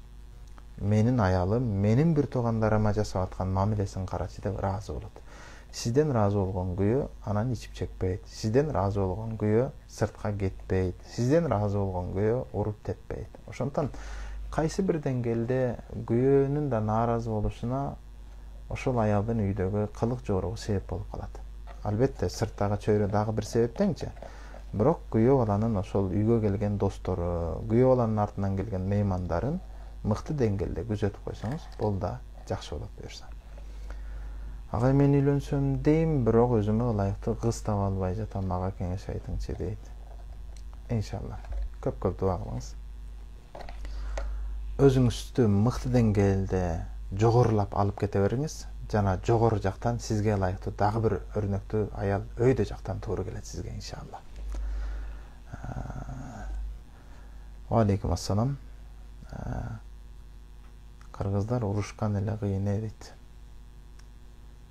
менин аялым, менин бир туугандарыма жасап аткан мамилесин карачы деп ыраазы болот. Сизден ыраазы болгон күйөө анан ичип чекпейт. Сизден ыраазы болгон күйөө сыртка кетпейт. Сизден ыраазы болгон күйөө уруп теппейт. Ошондуктан кайсы бир деңгээлде күйөөнүн да нааразы болушуна ошол аялдын үйдөгү кылык жоругу себеп болуп калат. Албетте сырттагы чөйрө дагы бир себептенчи. Бирок күйөө баланын ошол үйгө келген достору, күйөө баланын артынан келген меймандарын мыкты деңгээлде күзөтүп койсоңуз, бул да жакшы болот буюрса. Агай, мен үйлөнсөм дейм, бирок өзүмө ылайыктуу кыз таба албай жатам, мага кеңеш айтыңчы дейт. иншалла. Көп дуа кылыңыз. Өзүңүздү мыкты деңгээлде жогорулап алып кете бериңиз. Жана жогору жактан сизге ылайыктуу дагы бир өрнөктүү аял өйдө жактан туура келет сизге иншалла. Ва алейкум ассалам. Кыргыздар урушкан эле кыйын дейт.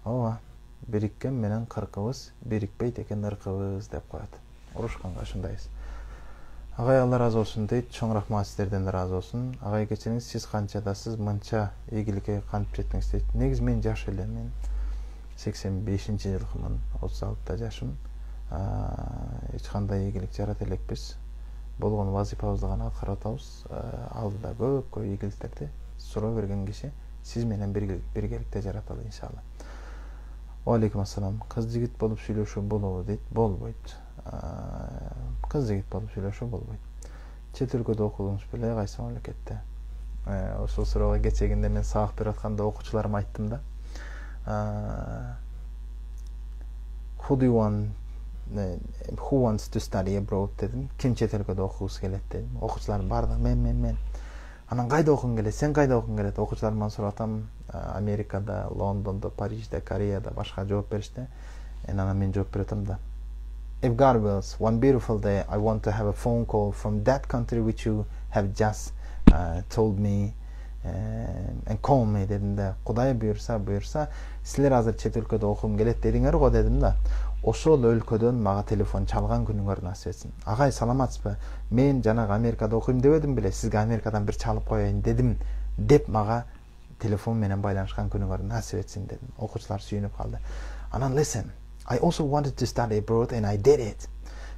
Ооба, бириккен менен кыркыбыз, бирикпейт экен ыркыбыз деп коет. Урушканга ушундайбыз. Агай Алла разы болсун дейт. Чоң рахмат, сиздерден да разы болсун. Агай кечириңиз, сиз канчадасыз, мынча ийгиликке кантип жеттиңиз дейт. Негизи мен жаш элем, мен 85-жылкымын, 36 жашым. Эч кандай ийгилик жарата элекпиз. Болгон вазифабызды гана аткарып атабыз. Алдыда көп ийгиликтерди суроо берген киши сиз менен биргеликте жараталы иншалла. Ва алейкум ассалам. Кыз жигит болуп сүйлөшүү болобу дейт. Болбойт. Кыз жигит болуп сүйлөшүү болбойт. Чет өлкөдө окудуңуз беле, кайсы мамлекетте? Ошол суроого кечегинде мен сабак берип атканда окуучуларыма айттым да. Who wants to study abroad дедим. Ким чет өлкөдө окугусу келет дедим. Окуучулар бардыгы мен. Анан кайда окугуң келет? Сен кайда окугуң келет? Окуучуларыман сурап атам. Америкада, Лондондо, Парижде, Кореяда башка жооп беришти. Анан мен жооп берип атам да. If God wills, one beautiful day I want to have a phone call from that country which you have just told me and call me дедим да. Кудай буйрса, силер азыр чет өлкөдө окугум келет дедиңер го дедим да. Ошол өлкөдөн мага телефон чалган күнүңөр насип этсин. Агай саламатсызбы? Мен жанагы Америкада окуйм дебедим беле, сизге Америкадан бир чалып коеюн дедим деп мага телефон менен байланышкан күнүңөр насип этсин дедим. Окуучулар сүйүнүп калды. Анан listen, I also wanted to study abroad and I did it.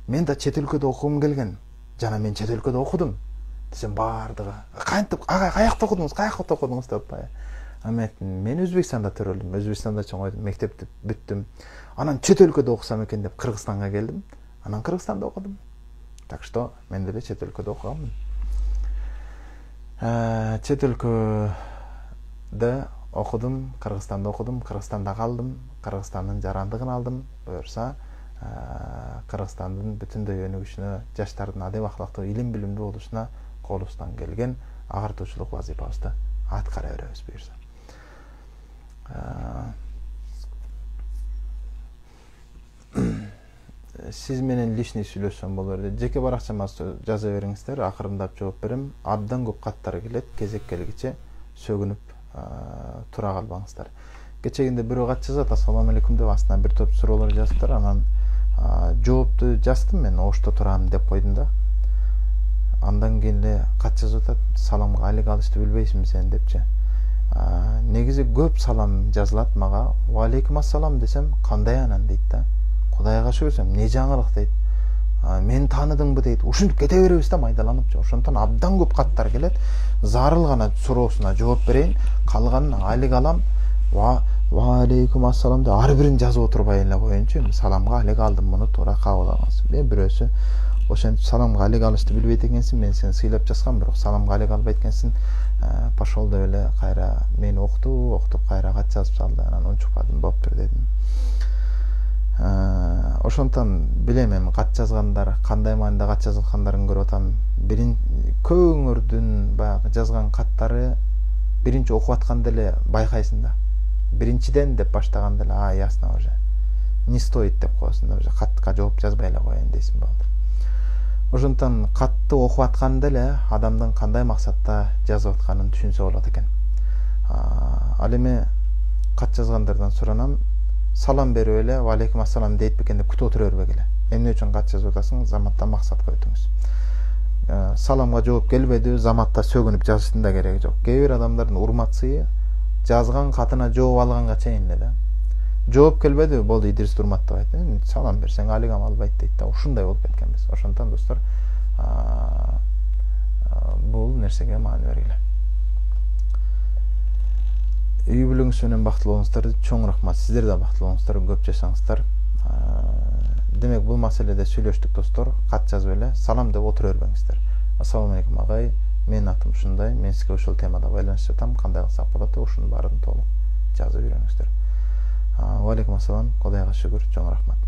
Мен да чет өлкөдө окугум келген. Жана мен чет өлкөдө окудум. Десем бардыгы. Кантип, агай каякта окудуңуз деп атпайбы? Мен Өзбекстанда төрөлдүм. Өзбекстанда чоңойдум, мектепти бүттүм. Анан чет өлкөдө окусам экен деп Кыргызстанга келдим. Анан Кыргызстанда окудум. Так что мен деле чет өлкөдө окуганмын. Чет өлкөдө окудум, Кыргызстанда окудум, Кыргызстанда калдым, Кыргызстандын жарандыгын алдым. Буюрса, Кыргызстандын бүтүндөй өнүгүшүнө, жаштардын адеп ахлактуу, илим билимдүү болушуна колубуздан келген агартуучулук вазифабызды аткара беребиз буюрса. Сиз менен лишний сүйлөшсөм болор дейт. Жеке баракчама жаза бериңиздер, акырындап жооп берем. Абдан көп каттар келет, кезек келгиче сөгүнүп тура калбаңыздар. Кечегинде бирөө кат жазат, ассаламу алейкум деп астынан бир топ суроолор жазыптыр. Анан жоопту жаздым мен, ошто турам деп койдум да. Андан кийин эле кат жазып атат, саламга алек алышты билбейсиңби сен депчи. Негизи көп салам жазылат мага. Ва алейкум ассалам десем, кандай анан дейт да. Кудайга шүгүр, эмне жаңылык дейт. Мен тааныдыңбы дейт. Ушинтип кете беребиз да майдаланып. Ошондон абдан көп каттар келет. Зарыл гана суроосуна жооп берейин, калганын алек алам. Ва алейкум ассалам деп ар бирин жазып отурбай эле коеюнчу. Саламга алек алдым, муну туура кабыл алыңыз. Бирөөсү ошентип саламга алек алышты билбейт экенсиң, мен сени сыйлап жазгам, бирок саламга алек албайт экенсиң. Пошол деп эле кайра мени октуп кайра кат жазып салды. Анан унчукпадым, болуптур дедим. Ошондон билем эми кат жазгандар кандай маанida кат жазылгандарын көрүп атам. Көбүңөрдүн баягы жазган каттары биринчи окуп атканда эле байкайсың да. Биринчиден деп баштаганда эле, ясно уже. Не стоит деп коесуң да, уже катка жооп жазбай эле коеюн дейсиң болду. Ошондон катты окуп атканда эле адамдын кандай максатта жазып атканын түшүнсө болот экен. Ал эми кат жазгандардан суранам, салам берип эле ва алейкум ассалам дейт бекен деп күтүп отура бербек эле. Эмне үчүн кат жазып атасың? Заматта максатка өтүңүз. Саламга жооп келбеди, заматта сөгүнүп жазыштын да кереги жок. Кээ бир адамдардын урмат сыйы жазган катына жооп алганга чейин эле да. Жооп келбеди, болду Идрис урматтап айтты. Салам берсең алигам албайт дейт да. Ушундай болуп кеткенбиз. Ошондон достор, бул нерсеге маани бергиле. Үй бүлөңүз менен бактылуу болуңуздар, чоң рахмат. Сиздер да бактылуу болуңуздар, көп жашаңыздар. Демек бул маселеде сүйлөштүк достор. Кат жазып эле салам деп отура бербеңиздер. Ассаламу алейкум агай, менин атым ушундай, мен сизге ушул темада байланышып жатам, кандай кылсак болот деп ушунун баарын толук жазып үйрөнүңүздөр. Ва алейкум ассалам, Кудайга шүгүр, чоң рахмат.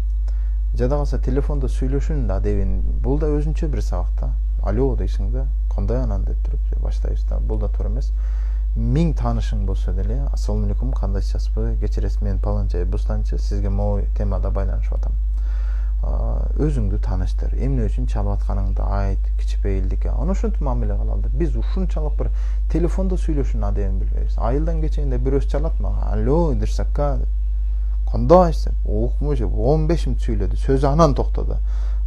жада калса телефондо сүйлөшүүнүн адебин, бул да өзүнчө бир сабак да. Алло дейсиң да, кандай анан деп туруп баштайбыз да. Бул да туура эмес. 1000 таанышың болсо деле, ассалому алейкум, кандайсызбы, кечиресиз, мен паланча бустанчы, сизге могу темада байланышып атам. Өзүңдү тааныштыр, эмне үчүн чалып атканыңды айт, кичпейилдикке. Аны ошентип мамиле кылалы. Биз ушунчалык бир телефондо сүйлөшүүнүн адебин билбейбиз. Айылдан кечейинде бирөөсү чалат мага, алло дырсакка деп. Кандайсың? Укмуш 15 мүнөт сүйлөдү, сөзү анан токтоду.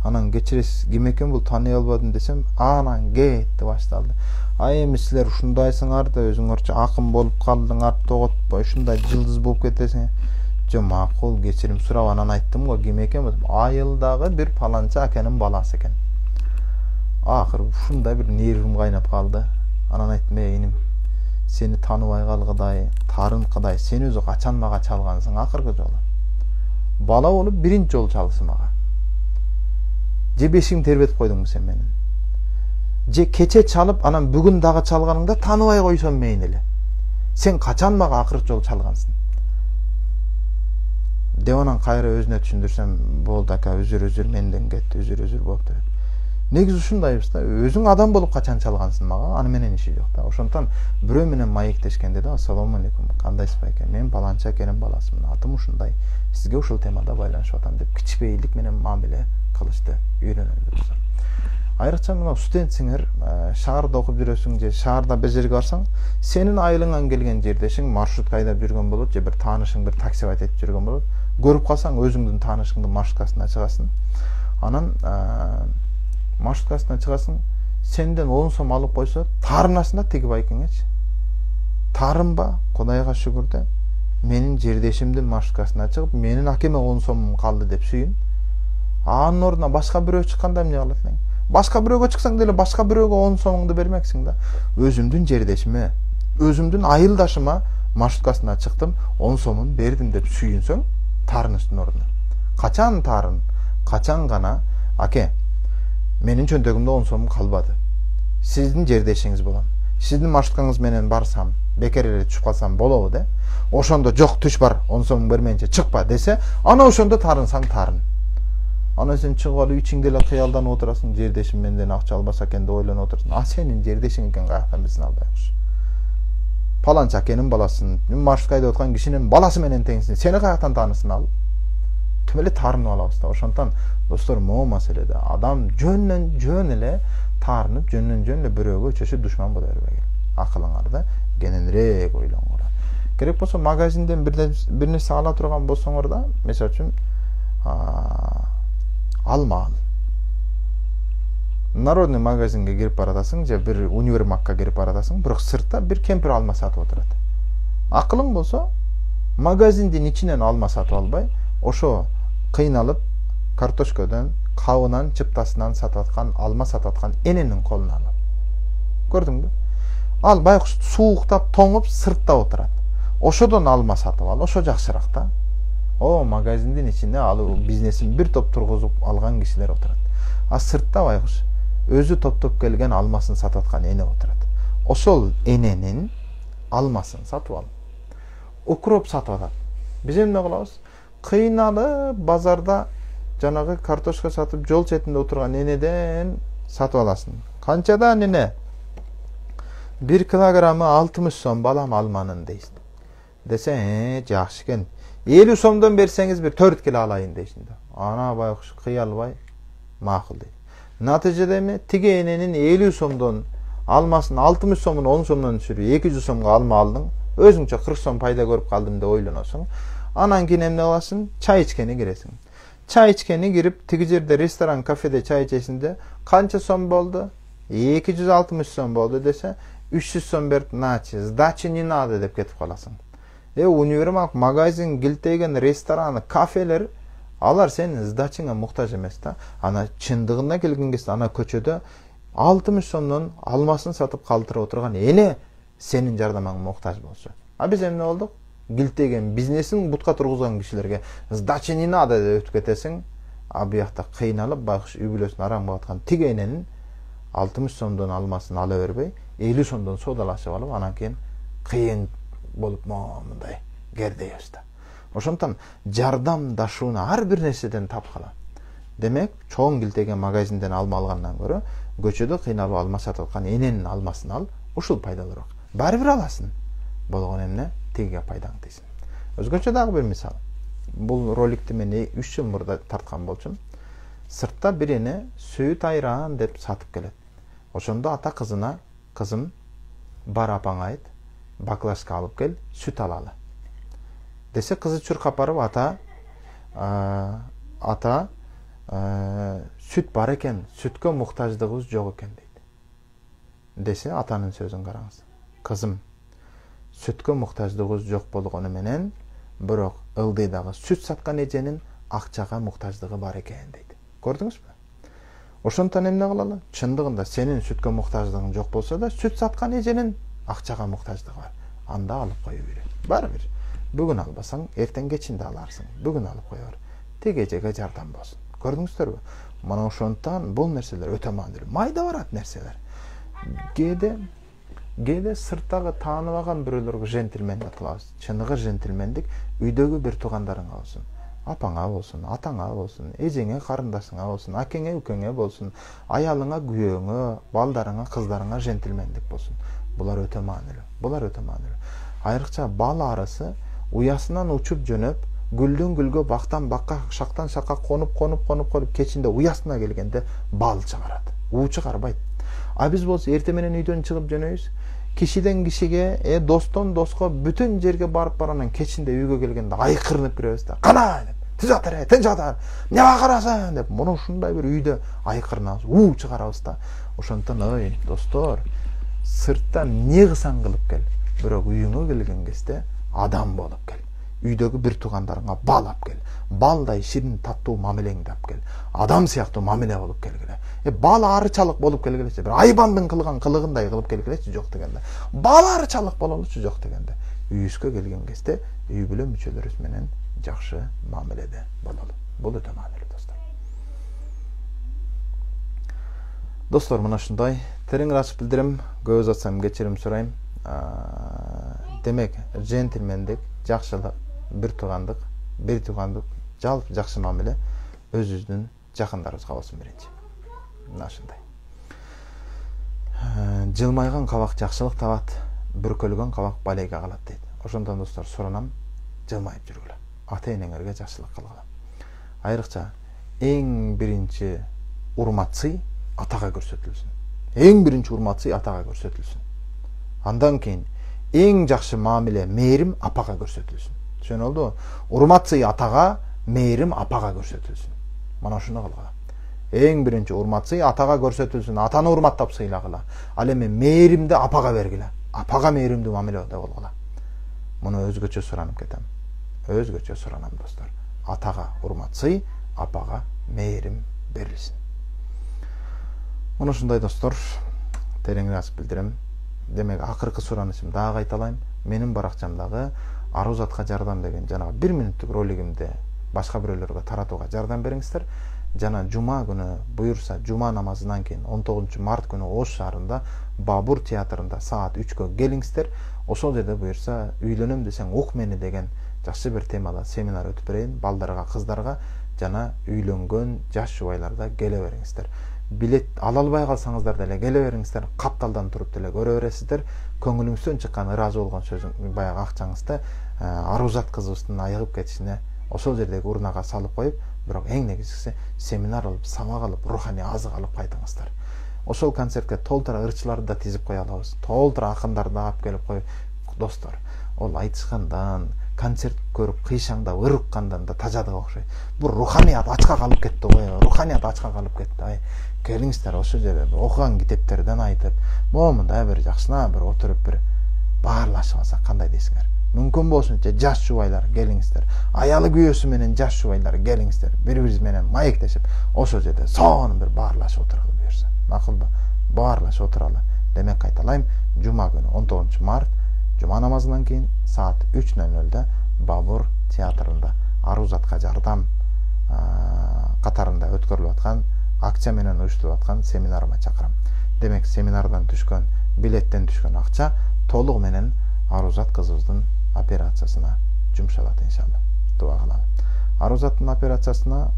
Анан кечиресиз, ким экен бул, тааный албадым десем, анан кетти башталды. Эми силер ушундайсыңар да, өзүңөрчө акын болуп калдыңар, тоготпой ушундай жылдыз болуп кетесиң. Жок, макул, кечирим сурап анан айттым го, ким экен бул? Айылдагы бир паланча акенин баласы экен. Акыры ушундай бир нервим кайнап калды. Анан айттым, иним, сени тааныбай калгыдай, тарынкыдай, сен өзү качан мага чалгансың акыркы жолу? Бала болуп биринчи жолу чалсың мага. Же бешиң тербетип койдуңбу сен менин? Же кече чалып, анан бүгүн дагы чалганыңда тааныбай койсом мейни эле. Сен качан мага акыркы жолу чалгансың? Деп анан кайра өзүнө түшүндүрсөм, болду ака, үзүр менден кетти, үзүр болуптур. Негизи ушундайбыз да, өзүң адам болуп качан чалгансың мага, аны менен иши жок да. Ошондон бирөө менен маектешкенде да, ассалому алейкум, кандайсыз экен, мен паланча акенин баласымын, атым ушундай, сизге ушул темада байланышып атам деп кичпейилдик менен мамиле кылышты үйрөнөлүбүз. Айрыкча мына студентсиңер, шаарда окуп жүрөсүң же шаарда бир жерге барсаң, сенин айылыңан келген жердешиң маршрутка айдап жүргөн болот, же бир таанышың бир такси айтып жүргөн болот. Көрүп калсаң, өзүңдүн таанышыңдын маршруткасына чыгасың. Анан маршруткасына чыгасың, сенден 10 сом алып койсо, тарынасың да тиги байкеңечи. Тарынба, Кудайга шүгүр да, менин жердешимдин маршруткасына чыгып, менин акеме 10 сомум калды деп сүйүн. Анын ордуна башка бирөө чыкканда эмне кылат элең? Башка бирөөгө чыксаң деле башка бирөөгө 10 сомуңду бермексиң да. Өзүмдүн жердешиме, өзүмдүн айылдашыма маршруткасына чыктым, 10 сомун бердим деп сүйүнсөң, тарыныштын ордуна. Качан тарын? Качан гана, аке, менин чөнтөгүмдө 10 сомум калбады. Сиздин жердешиңиз болом. Сиздин маршруткаңыз менен барсам, бекер эле түшүп калсам болобу де? Ошондо жок, түш бар, 10 сомуң бермейинче чыкпа десе, ана ошондо тарынсаң тарын. Анан сен чыгып алып ичиңде эле кыялданып отурасың, жердешим менден акча албаса экен деп ойлонуп отурсуң. Сенин жердешиң экен, каяктан билсин албайбыз. Паланча акенин баласын, маршрутка айдап аткан кишинин баласы менен теңсиң. Сени каяктан таанысын ал? Тим эле таарынып алабыз да. Ошондон достор, могу маселеде адам жөн эле таарынып, жөн эле бирөөгө чөчү душман боло бербегил. Акылыңарды кененирээк ойлоңур. Керек болсо магазинден бир нерсе ала турган болсоңор да, мисалы үчүн алма ал. Народный магазинге кирип баратасың, же бир универмагга кирип баратасың, бирок сыртта бир кемпир алма сатып отурат. Акылың болсо, магазиндин ичинен алма сатып албай, ошо кыйналып картошкодон, кабынан, чыптасынан сатып аткан, алма сатып аткан эненин колуна алып. Көрдүңбү? Ал байкуш сууктап, тоңуп, сыртта отурат. Ошодон алма сатып ал, ошо жакшыраак да. О, магазиндин ичинде ал бизнесин бир топ тургузуп алган кишилер отурат. А сыртта байкуш өзү топтоп келген алмасын сатып аткан эне отурат. Ошол эненин алмасын сатып алып, укроп сатып атат. Биз эмне кылабыз? Кыйналып базарда жанагы картошка сатып жол четинде отурган энеден сатып аласың. Канчадан эне? 1 килограммы 60 сом балам алманын дейсиң. Десе, жакшы экен. 50 сомдон берсеңиз бир 4 кило алайын дейсиң да. Ана байкуш кыялбай макул дейт. Натыйжада эме? Тиги эненин 50 сомдон алмасын 60 сомун 10 сомдон түшүрүп 200 сомго алма алдың. Өзүңчө 40 сом пайда көрүп калдым деп ойлоносуң. Анан кийин эмне кыласың? Чай ичкени киресиң. Чай ичкени кирип, тиги жерде ресторан, кафеде чай ичесиңде канча сом болду? 260 сом болду десе, 300 сом берип, начи, сдачи не надо деп кетип каласың. Универмаг, магазин, килтеген, рестораны, кафелер, алар сенин сдачыңа муктаж эмес да. Ана чындыгына келген кезде ана көчөдө 60 сомдон алмасын сатып калтырып отурган эне сенин жардамыңа муктаж болчу. А биз эмне болдук? Килтеген бизнесин бутка тургузган кишилерге сдачи не надо деп өтүп кетесиң. А буякта кыйналып байкуш үй бүлөсүн арам кылаткан тиги эненин 60 сомдон алмасын ала бербей, 50 сомдон соодалашып алып, анан кийин кыйын болуп мындай кердейбиз да. Ошондон жардамдашууну ар бир нерседен тапкыла. Демек, чоң килтеген магазинден алма алгандан көрө көчөдө кыйналып алма сатып аткан эненин алмасын ал, ушул пайдалуураак. Баары бир аласың. Болгон эмне? Тегиге пайдаң тийсин. Өзгөчө дагы бир мисал. Бул роликти мен 3 жыл мурда тарткан болчумун. Сыртта бир эне сүт айран деп сатып келет. Ошондо ата кызына, кызым, бар апаңа айт, баклажка алып кел, сүт алалы. Десе кызы чуркап барып, ата сүт бар экен, сүткө муктаждыгыбыз жок экен дейт. Десе атанын сөзүн караңыз. Кызым, сүткө муктаждыгыбыз жок болгону менен, бирок ылдыйдагы сүт саткан эженин акчага муктаждыгы бар экен дейт. Көрдүңүзбү? Ошондон эмне кылалы? Чындыгында сенин сүткө муктаждыгың жок болсо да, сүт саткан эженин акчага муктаждыгы бар. Анда алып коюу керек. Баары бир. Бүгүн албасаң, эртең кечинде аларсың. Бүгүн алып кое бер. Тик эжеге жардам болсун. Көрдүңүздөрбү? Мына ошондон бул нерселер өтө маанилүү. Майда барат нерселер. Кээде сырттагы тааныбаган бирөөлөргө жентилмендик кылабыз. Чыныгы жентилмендик үйдөгү бир туугандарыңа болсун. Апаңа болсун, атаңа болсун, эжеңе, карындашыңа болсун, акеңе, үкеңе болсун, аялыңа, күйөөңө, балдарыңа, кыздарыңа жентилмендик болсун. Булар өтө маанилүү. Айрыкча бал арысы уясынан учуп жөнөп, гүлдөн гүлгө, бактан бакка, шактан шакка конуп, кечинде уясына келгенде бал чыгарат. уу чыгарбайт. А биз болсо эртең менен үйдөн чыгып жөнөйбүз. Кишиден кишиге, достон доско бүтүн жерге барып баранан кечинде үйгө келгенде айкырынып киребиз да. Кана деп, тизатыр, тынчатар, эмне бакырасың деп, муну ушундай бир үйдө айкырынабыз, уу чыгарабыз да. Ошондон ой, достор, сырттан эмне кылсаң кылып кел, бирок үйүңө келген кезде адам болуп кел. Үйдөгү бир туугандарыңа бал алып кел. Балдай ширин таттуу мамилеңди алып кел. Адам сыяктуу мамиле болуп келгиле. Бал арычалык болуп келгилечи. Бир айбандын кылган кылыгындай кылып келгилечи, жок дегенде. Бал арычалык бололучу, жок дегенде. Үйүбүзгө келген кезде үй бүлө мүчөлөрүбүз менен жакшы мамиледе бололу. Бул өтө маанилүү, достор. Достор, мына ушундай терең ачып билдирем. Көп узатсам кечирим сурайм. Демек, жентилмендик, жакшылык, бир туугандык, жалпы жакшы мамиле өзүбүздүн жакындарыбызга болсун биринчи. Мына ушундай. Жылмайган кабак жакшылык табат, бүркөлгөн кабак балейге калат дейт. Ошондон достор, суранам, жылмайып жүргүлө. Ата-энеңерге жакшылык кылгыла. Айрыкча эң биринчи урмат-сый атага көрсөтүлсүн. Андан кийин эң жакшы мамиле, мээрим апага көрсөтүлсүн. Түшүнүлдүбү? Урмат-сый атага, мээрим апага көрсөтүлсүн. Мана ушуну кылгыла. Эң биринчи урмат-сый атага көрсөтүлсүн, атаны урматтап сыйлагыла. Ал эми мээримди апага бергиле. Апага мээримдүү мамиледе болгула. Муну өзгөчө суранып кетем. Өзгөчө суранам, достор. Атага урмат-сый, апага мээрим берилсин. Муну ушундай, достор, терең ачып билдирем. Демек, акыркы суранышым дагы кайталайм. Менин баракчамдагы Арузатка жардам деген жанагы 1 минуттук ролигимди башка бирөөлөргө таратууга жардам бериңиздер. Жана жума күнү буюрса, жума намазынан кийин 19 март күнү Ош шаарында Бабур театрында саат 3кө келиңиздер. Ошол жерде буюрса, үйлөнөм десең ук мени деген жакшы бир темада семинар өтүп берейин. Балдарга, кыздарга жана үйлөнгөн жаш жубайларда келе бериңиздер. Билет ала албай калсаңыздар деле келе бериңиздер. Капталдан туруп деле көрө бересиздер. Көңүлүңүздөн чыккан ыраазы болгон сөзүң, баягы акчаңызды Арузат кызыбыздын айыгып кетишине ошол жердеги урнага салып коюп, бирок эң негизгиси семинар алып, сабак алып, руханий азык алып кайтыңыздар. Ошол концертке толтура ырчыларды да тизип кое алабыз. Толтура акындарды да алып келип коюп, достор, ол айтышкандан, концерт көрүп кыйшаңдап ырыккандан да тажадыга окшойт. Бул руханият ачка калып кетти го. Руханият ачка калып кетти. Келиңиздер, ошол жерде окуган китептерден айтып, момундай бир жакшына бир отуруп бир баарлашып алсак кандай дейсиңер? Мүмкүн болсунча жаш жубайлар келиңиздер. Аялы күйөөсү менен жаш жубайлар келиңиздер. Бири-бириз менен маектешип, ошол жерде сонун бир баарлашып отуралы буюрса. Макулбу? Баарлашып отуралы. Демек, кайталайм, жума күнү 19 март жума намазынан кийин саат 3:00 Бабур театрында Арузатка жардам катарында өткөрүлүп аткан акча менен уюштурулуп аткан семинарыма чакырам. Демек, семинардан түшкөн, билеттен түшкөн акча толугу менен Арузат кызыбыздын операциясына жумшалат иншалла. Дуа кылалы. Арузаттын операциясына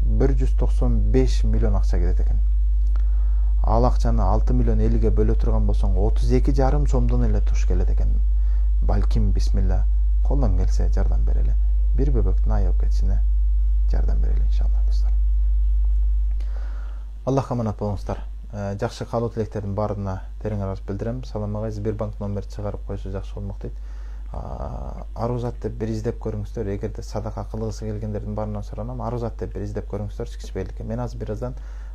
195 миллион акча кетет экен. Ал акчаны 6 миллион элге бөлө турган болсоң 32,5 сомдон эле туш келет экен. Балким бисмилла колдон келсе жардам берели. Бир бөбөктүн айып кетишине жардам берели иншалла достор. Аллахка аманат болуңуздар. Жакшы каалоо тилектердин баарына терең ыраазычылык билдирем. Салам агай, Сбербанк номерди чыгарып койсо жакшы болмок дейт. Арузат деп бир издеп көрүңүздөр. Эгерде садака кылгысы келгендердин баарынан суранам, Арузат деп бир издеп көрүңүздөр. Кичпейликке. Мен азыр бир аздан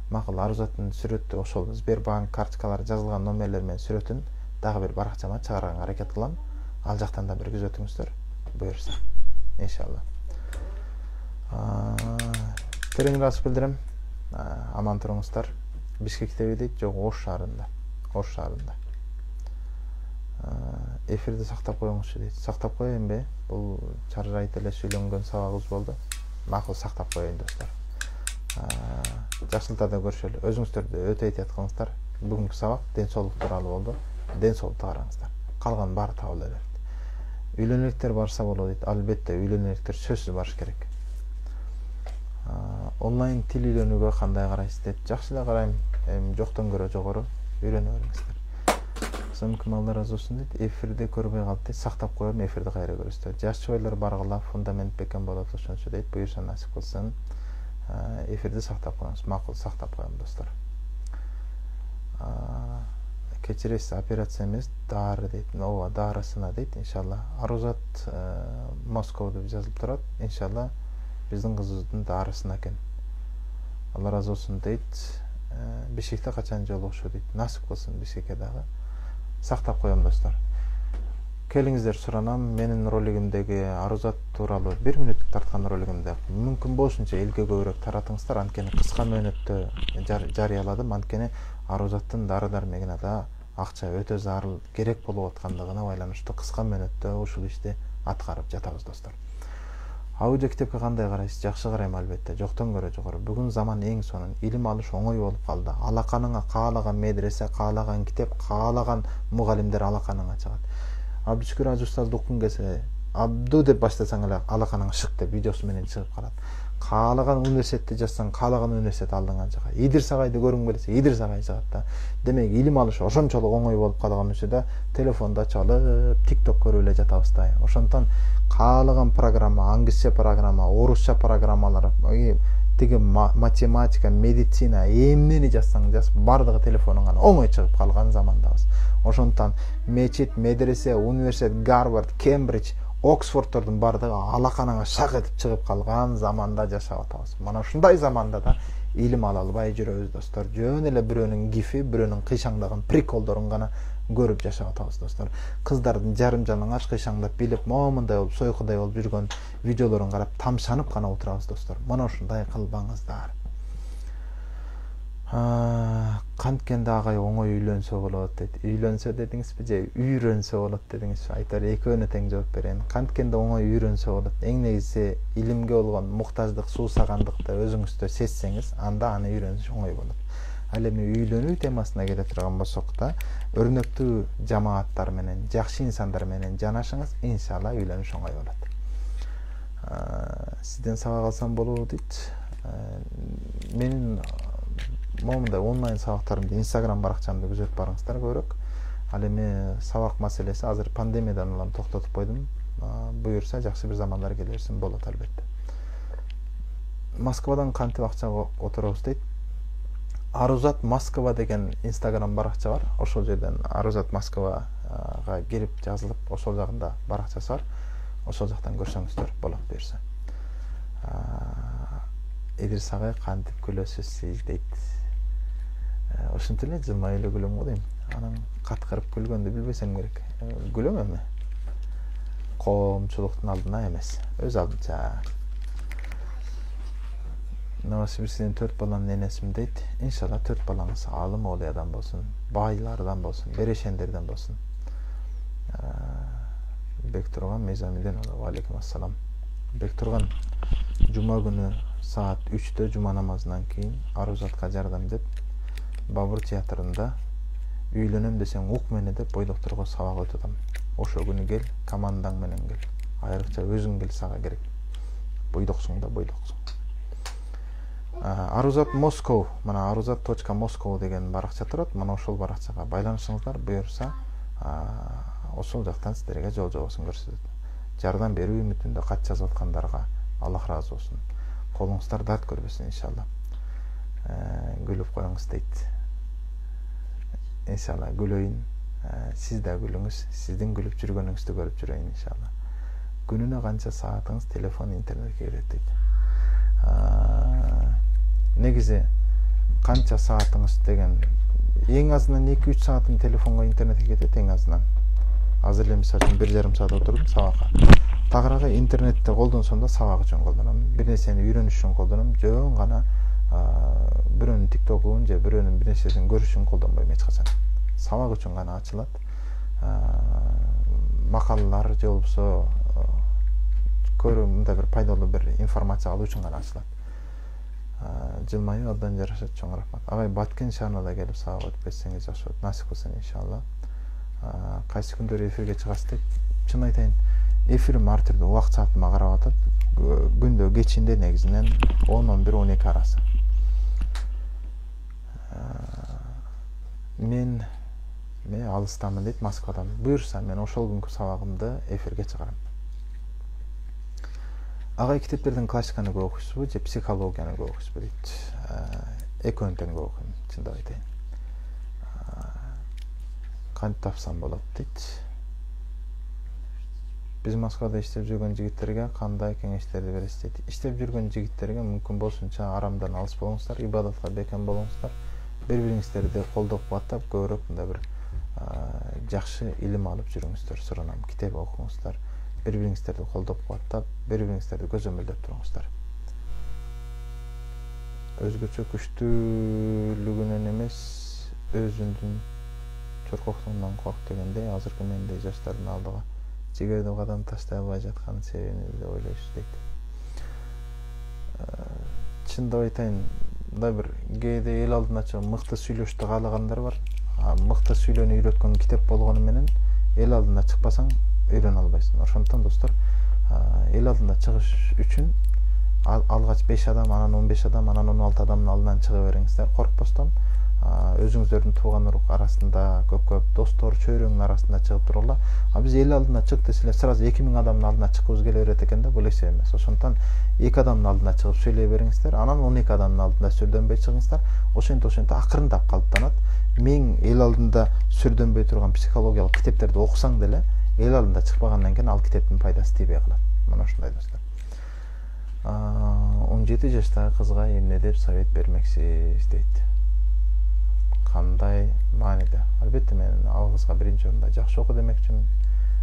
макул Арузаттын сүрөттү, ошол Сбербанк карточкалары жазылган номерлер менен сүрөтүн дагы бир баракчама чыгарганга аракет кылам. Ал жактан да бир көз өтүңүздөр. Буюрса. Иншалла. Терең ыраазычылык билдирем. Аман туруңуздар. Бишкектеби дейт, жок, Ош шаарында. Ош шаарында. Эфирди сактап коюңузчу дейт. Сактап коеюнбу? Бул чаржайт эле сүйлөнгөн сабагыбыз болду. Макул, сактап коеюн достор. Жакшылыкта көрүшөлү. Өзүңүздөрдү өтө этият кылыңыздар. Бүгүнкү сабак ден соолук тууралуу болду. Ден соолукту караңыздар. Калган баары табыла берет. Үйлөнөлүктөр барса болот дейт. Албетте үйлөнөлүктөр сөзсүз барыш керек. Онлайн тил үйрөнүүгө кандай карайсыз деп. Жакшы эле карайм. Жоктон көрө жогору үйрөнө бериңиздер. Сымкым Алла разы болсун дейт. Эфирде көрбөй калды. Сактап коем, эфирди кайра көрөсүздөр. Жаш чыбайлар баргыла, фундамент бекем болот ошончо дейт. Буюрса насип кылсын. Эфирди сактап коюңуз. Макул, сактап коем достор. Кечиресиз, операция эмес, дары дейт. Ооба, дарысына дейт. Иншалла. Арузат Москва деп жазылып турат. Иншалла биздин кызыбыздын дарысына экен. Алла разы болсун дейт. Бишкекте качан жолугушуу дейт. Насип кылсын Бишкекке дагы. Сактап коем достор. Келиңиздер суранам. Менин ролигимдеги Арузат тууралуу 1 мүнөттүк тарткан ролигимде мүмкүн болушунча элге көбүрөөк таратыңыздар. Анткени кыска мөөнөттө жарыяладым. Анткени Арузаттын дары-дармегине да акча өтө зарыл керек болуп аткандыгына байланыштуу кыска мөөнөттө ушул ишти аткарып жатабыз достор. Аудио китепке кандай карайсыз? Жакшы карайм албетте. Жоктон көрө жогору. Бүгүн заман эң сонун. Илим алыш оңой болуп калды. Алаканыңа каалаган медресе, каалаган китеп, каалаган мугалимдер алаканыңа чыгат. Абдышүкүр Ажы устазды уккун келсе, Абду деп баштасаң эле алаканыңа шык деп видеосу менен чыгып калат. Каалаган университетти жазсаң, каалаган университет алдыңа чыгат. Идрис агайды көргүң келсе, Идрис агай чыгат да. Демек, илим алыш ошончолук оңой болуп калган учурда телефонду чалып, TikTok көрүп эле жатабыз да. Ошондон каалаган программа, англисче программа, орусча программалар, тиги математика, медицина, эмнени жазсаң жаз, бардыгы телефонуңан оңой чыгып калган замандабыз. Ошондон мечит, медресе, университет, Гарвард, Кембридж, Оксфорддордун бардыгы алаканаңа шак этип чыгып калган заманда жашап атабыз. Мына ушундай заманда да илим ала албай жүрөбүз достор. Жөн эле бирөөнүн гифи, бирөөнүн кыйшаңдаган приколдорун гана көрүп жашап атабыз достор. Кыздардын жарым жалаңач кыйшаңдап билип, момундай болуп, сойкудай болуп жүргөн видеолорун карап тамшанып гана отурабыз достор. Мына ушундай кылбаңыздар. Канткенде агай оңой үйлөнсө болот дейт. Үйлөнсө дедиңизби же үйрөнсө болот дедиңизби? Айтор экөөнө тең жооп берейин. Канткенде оңой үйрөнсө болот. Эң негизи илимге болгон муктаждык, суусагандыкты өзүңүздө сезсеңиз, анда аны үйрөнүш оңой болот. Ал эми үйлөнүү темасына келе турган болсок да, өрнөктүү жамааттар менен, жакшы инсандар менен жанашыңыз, иншалла үйлөнүш оңой болот. Сизден сабак алсам болобу дейт. Менин момундай онлайн сабактарымды Instagram баракчамда күзөтүп барыңыздар көбүрөөк. Ал эми сабак маселеси азыр пандемиядан улам токтотуп койдум. Буюрса жакшы бир замандар келе берсин болот албетте. Москвадан кантип акча которобуз дейт. Арузат Москва деген Instagram баракча бар. Ошол жерден Арузат Москвага кирип жазылып, ошол жагында баракчасы бар. Ошол жактан көрсөңүздөр болот буюрса. Идрис агай кантип күлөсүз сиз дейт. Ошентип эле жылмай эле күлөм го дейм. Анан каткырып күлгөндү билбесем керек. Күлөм эми. Коомчулуктун алдына эмес, өз алдынча. Новосибирскиден 4 баланын энесимин дейт. Иншалла 4 балаңыз алым олуядан болсун, байлардан болсун, берешендерден болсун. Бектурган Мейзамиден ва алейкум ассалам. Бектурган жума күнү саат 3-тө жума намазынан кийин Арузатка жардам деп Бабур театрында үйлөнөм десең ук мени деп бойдокторго сабак өтөтөм. Ошо күнү кел, командаң менен кел. Айрыкча өзүң кел, сага керек. Бойдоксуң да бойдоксуң. Aruzat Moscow, mana aruzat.moscow деген баракча турат. Мына ошол баракчага байланышыңыздар, буюрса ошол жактан сиздерге жол жобосун көрсөтөт. Жардам берүү үмүтүндө кат жазып аткандарга Аллах ыраазы болсун. Колуңуздар дарт көрбөсүн иншалла. Гүлүп коюңуз дейт. Иншалла гүлөйүн. Сиз да күлүңүз, сиздин күлүп жүргөнүңүздү көрүп жүрөйүн иншалла. Күнүнө канча саатыңыз телефон интернетке кетет дейт. Негизи канча саатыңыз деген эң азынан 2-3 саатым телефонго интернетке кетет эң азынан. Азыр эле мисалы үчүн 1,5 саат отурдум сабакка. Тагыраагы интернетти колдонсом да сабак үчүн колдоном. Бир нерсени үйрөнүш үчүн колдоном. Жөн гана бирөөнүн тиктокун же бирөөнүн бир нерсесин көрүш үчүн колдонбойм эч качан. Сабак үчүн гана ачылат. Макалалар же болбосо көрүү мындай бир пайдалуу бир информация алуу үчүн гана ачылат. Жылмайып абдан жарашат, чоң рахмат. Агай Баткен шаарына да келип сабак өтүп кетсеңиз жакшы болот. Насип кылсын иншалла. Кайсы күндөрү эфирге чыгасыз деп. Чын айтайын, эфирим ар түрдүү убакыт саатыма карап атат. Күндө кечинде негизинен 10-11-12 арасы. Мен алыстамын дейт, Москвадамын. Буюрса мен ошол күнкү сабагымды эфирге чыгарам. Агай китептерден классиканы көп окуйсузбу же психологияны көп окуйсузбу дейт. Экөөнүн тең көп окуйм, чындап айтайын. Кантип тапсам болот дейт. Биз Москвада иштеп жүргөн жигиттерге кандай кеңештерди бересиз дейт. Иштеп жүргөн жигиттерге мүмкүн болсунча арамдан алыс болуңуздар, ибадатка бекем болуңуздар. Бири-бириңиздерди колдоп кубаттап, көбүрөөк мындай бир жакшы илим алып жүрүңүздөр, суранам. Китеп окуңуздар. Бири-бириңиздерди колдоп кубаттап, бири-бириңиздерди көзөмөлдөп туруңуздар. Өзгөчө күчтүүлүгүнөн эмес, өзүңдүн чоркоктугунан корк дегендей, азыркы мендей жаштардын алдыга жигерди кадам таштай албай жаткан себебин эле ойлойсуз дейт. Чындап айтайын, мындай бир кээде эл алдына чыгып мыкты сүйлөштү каалагандар бар. Мыкты сүйлөөнү үйрөткөн китеп болгону менен эл алдына чыкпасаң үйрөнө албайсың. Ошондон достор, эл алдына чыгыш үчүн алгач 5 адам, анан 15 адам, анан 16 адамдын алдынан чыга бериңиздер, коркпостон. Өзүңүздөрдүн тууган урук арасында, көп достор, чөйрөңүн арасында чыгып тургула. Биз эл алдына чык десиле, сразу 2000 адамдын алдына чыккыбыз келе берет экен да, бул эсеп эмес. Ошондон 2 адамдын алдына чыгып сөйлөй бериңиздер, анан 12 адамдын алдына сүрдөнбөй чыгыңыздар. Ошентип акырындап калыптанат. Мен эл алдында сүрдөнбөй турган психологиялык китептерди окусаң деле, эл алдында чыкпагандан кийин ал китептин пайдасы тийбей калат. Мына ушундай достор. 17 жаштагы кызга эмне деп совет бермексиз дейт. Кандай мааниде? Албетте мен ал кызга биринчи орунда жакшы оку демекчимин.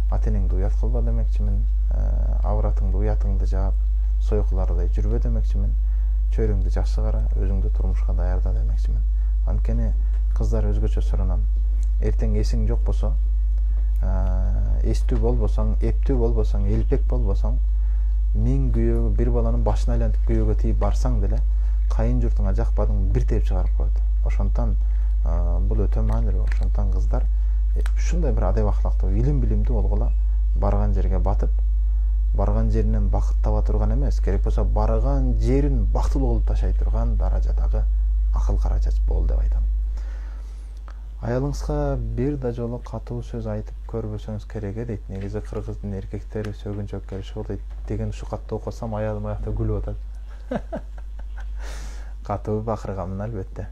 Ата-энеңди уят кылба демекчимин. Авратыңды, уятыңды жаап, сойкулардай жүрбө демекчимин. Чөйрөңдү жакшы кара, өзүңдү турмушка даярда демекчимин. Анткени кыздар өзгөчө суранам. Эртең эсиң жок болсо, эстүү болбосоң, эптүү болбосоң, элпек болбосоң, миң күйөөгө бир баланын башына айлантып күйөөгө тийип барсаң деле, кайын журтуңа жакпадың бир теп чыгарып коет. Ошондон бул өтө маанилүү. Ошондон кыздар ушундай бир адеп ахлактуу, илим билимдүү болгула, барган жерге батып, барган жеринен бакыт таба турган эмес, керек болсо барган жерин бактылуу кылып ташай турган даражадагы акыл каражат бол деп айтам. Аялыңызга бир да жолу катуу сөз айтып көрбөсөңүз керек дейт. Негизи кыргыздын эркектери сөгүнчөккө иши дейт деген ушу катты окусам аялым аякта күлүп атат. Катуу бакырганмын албетте.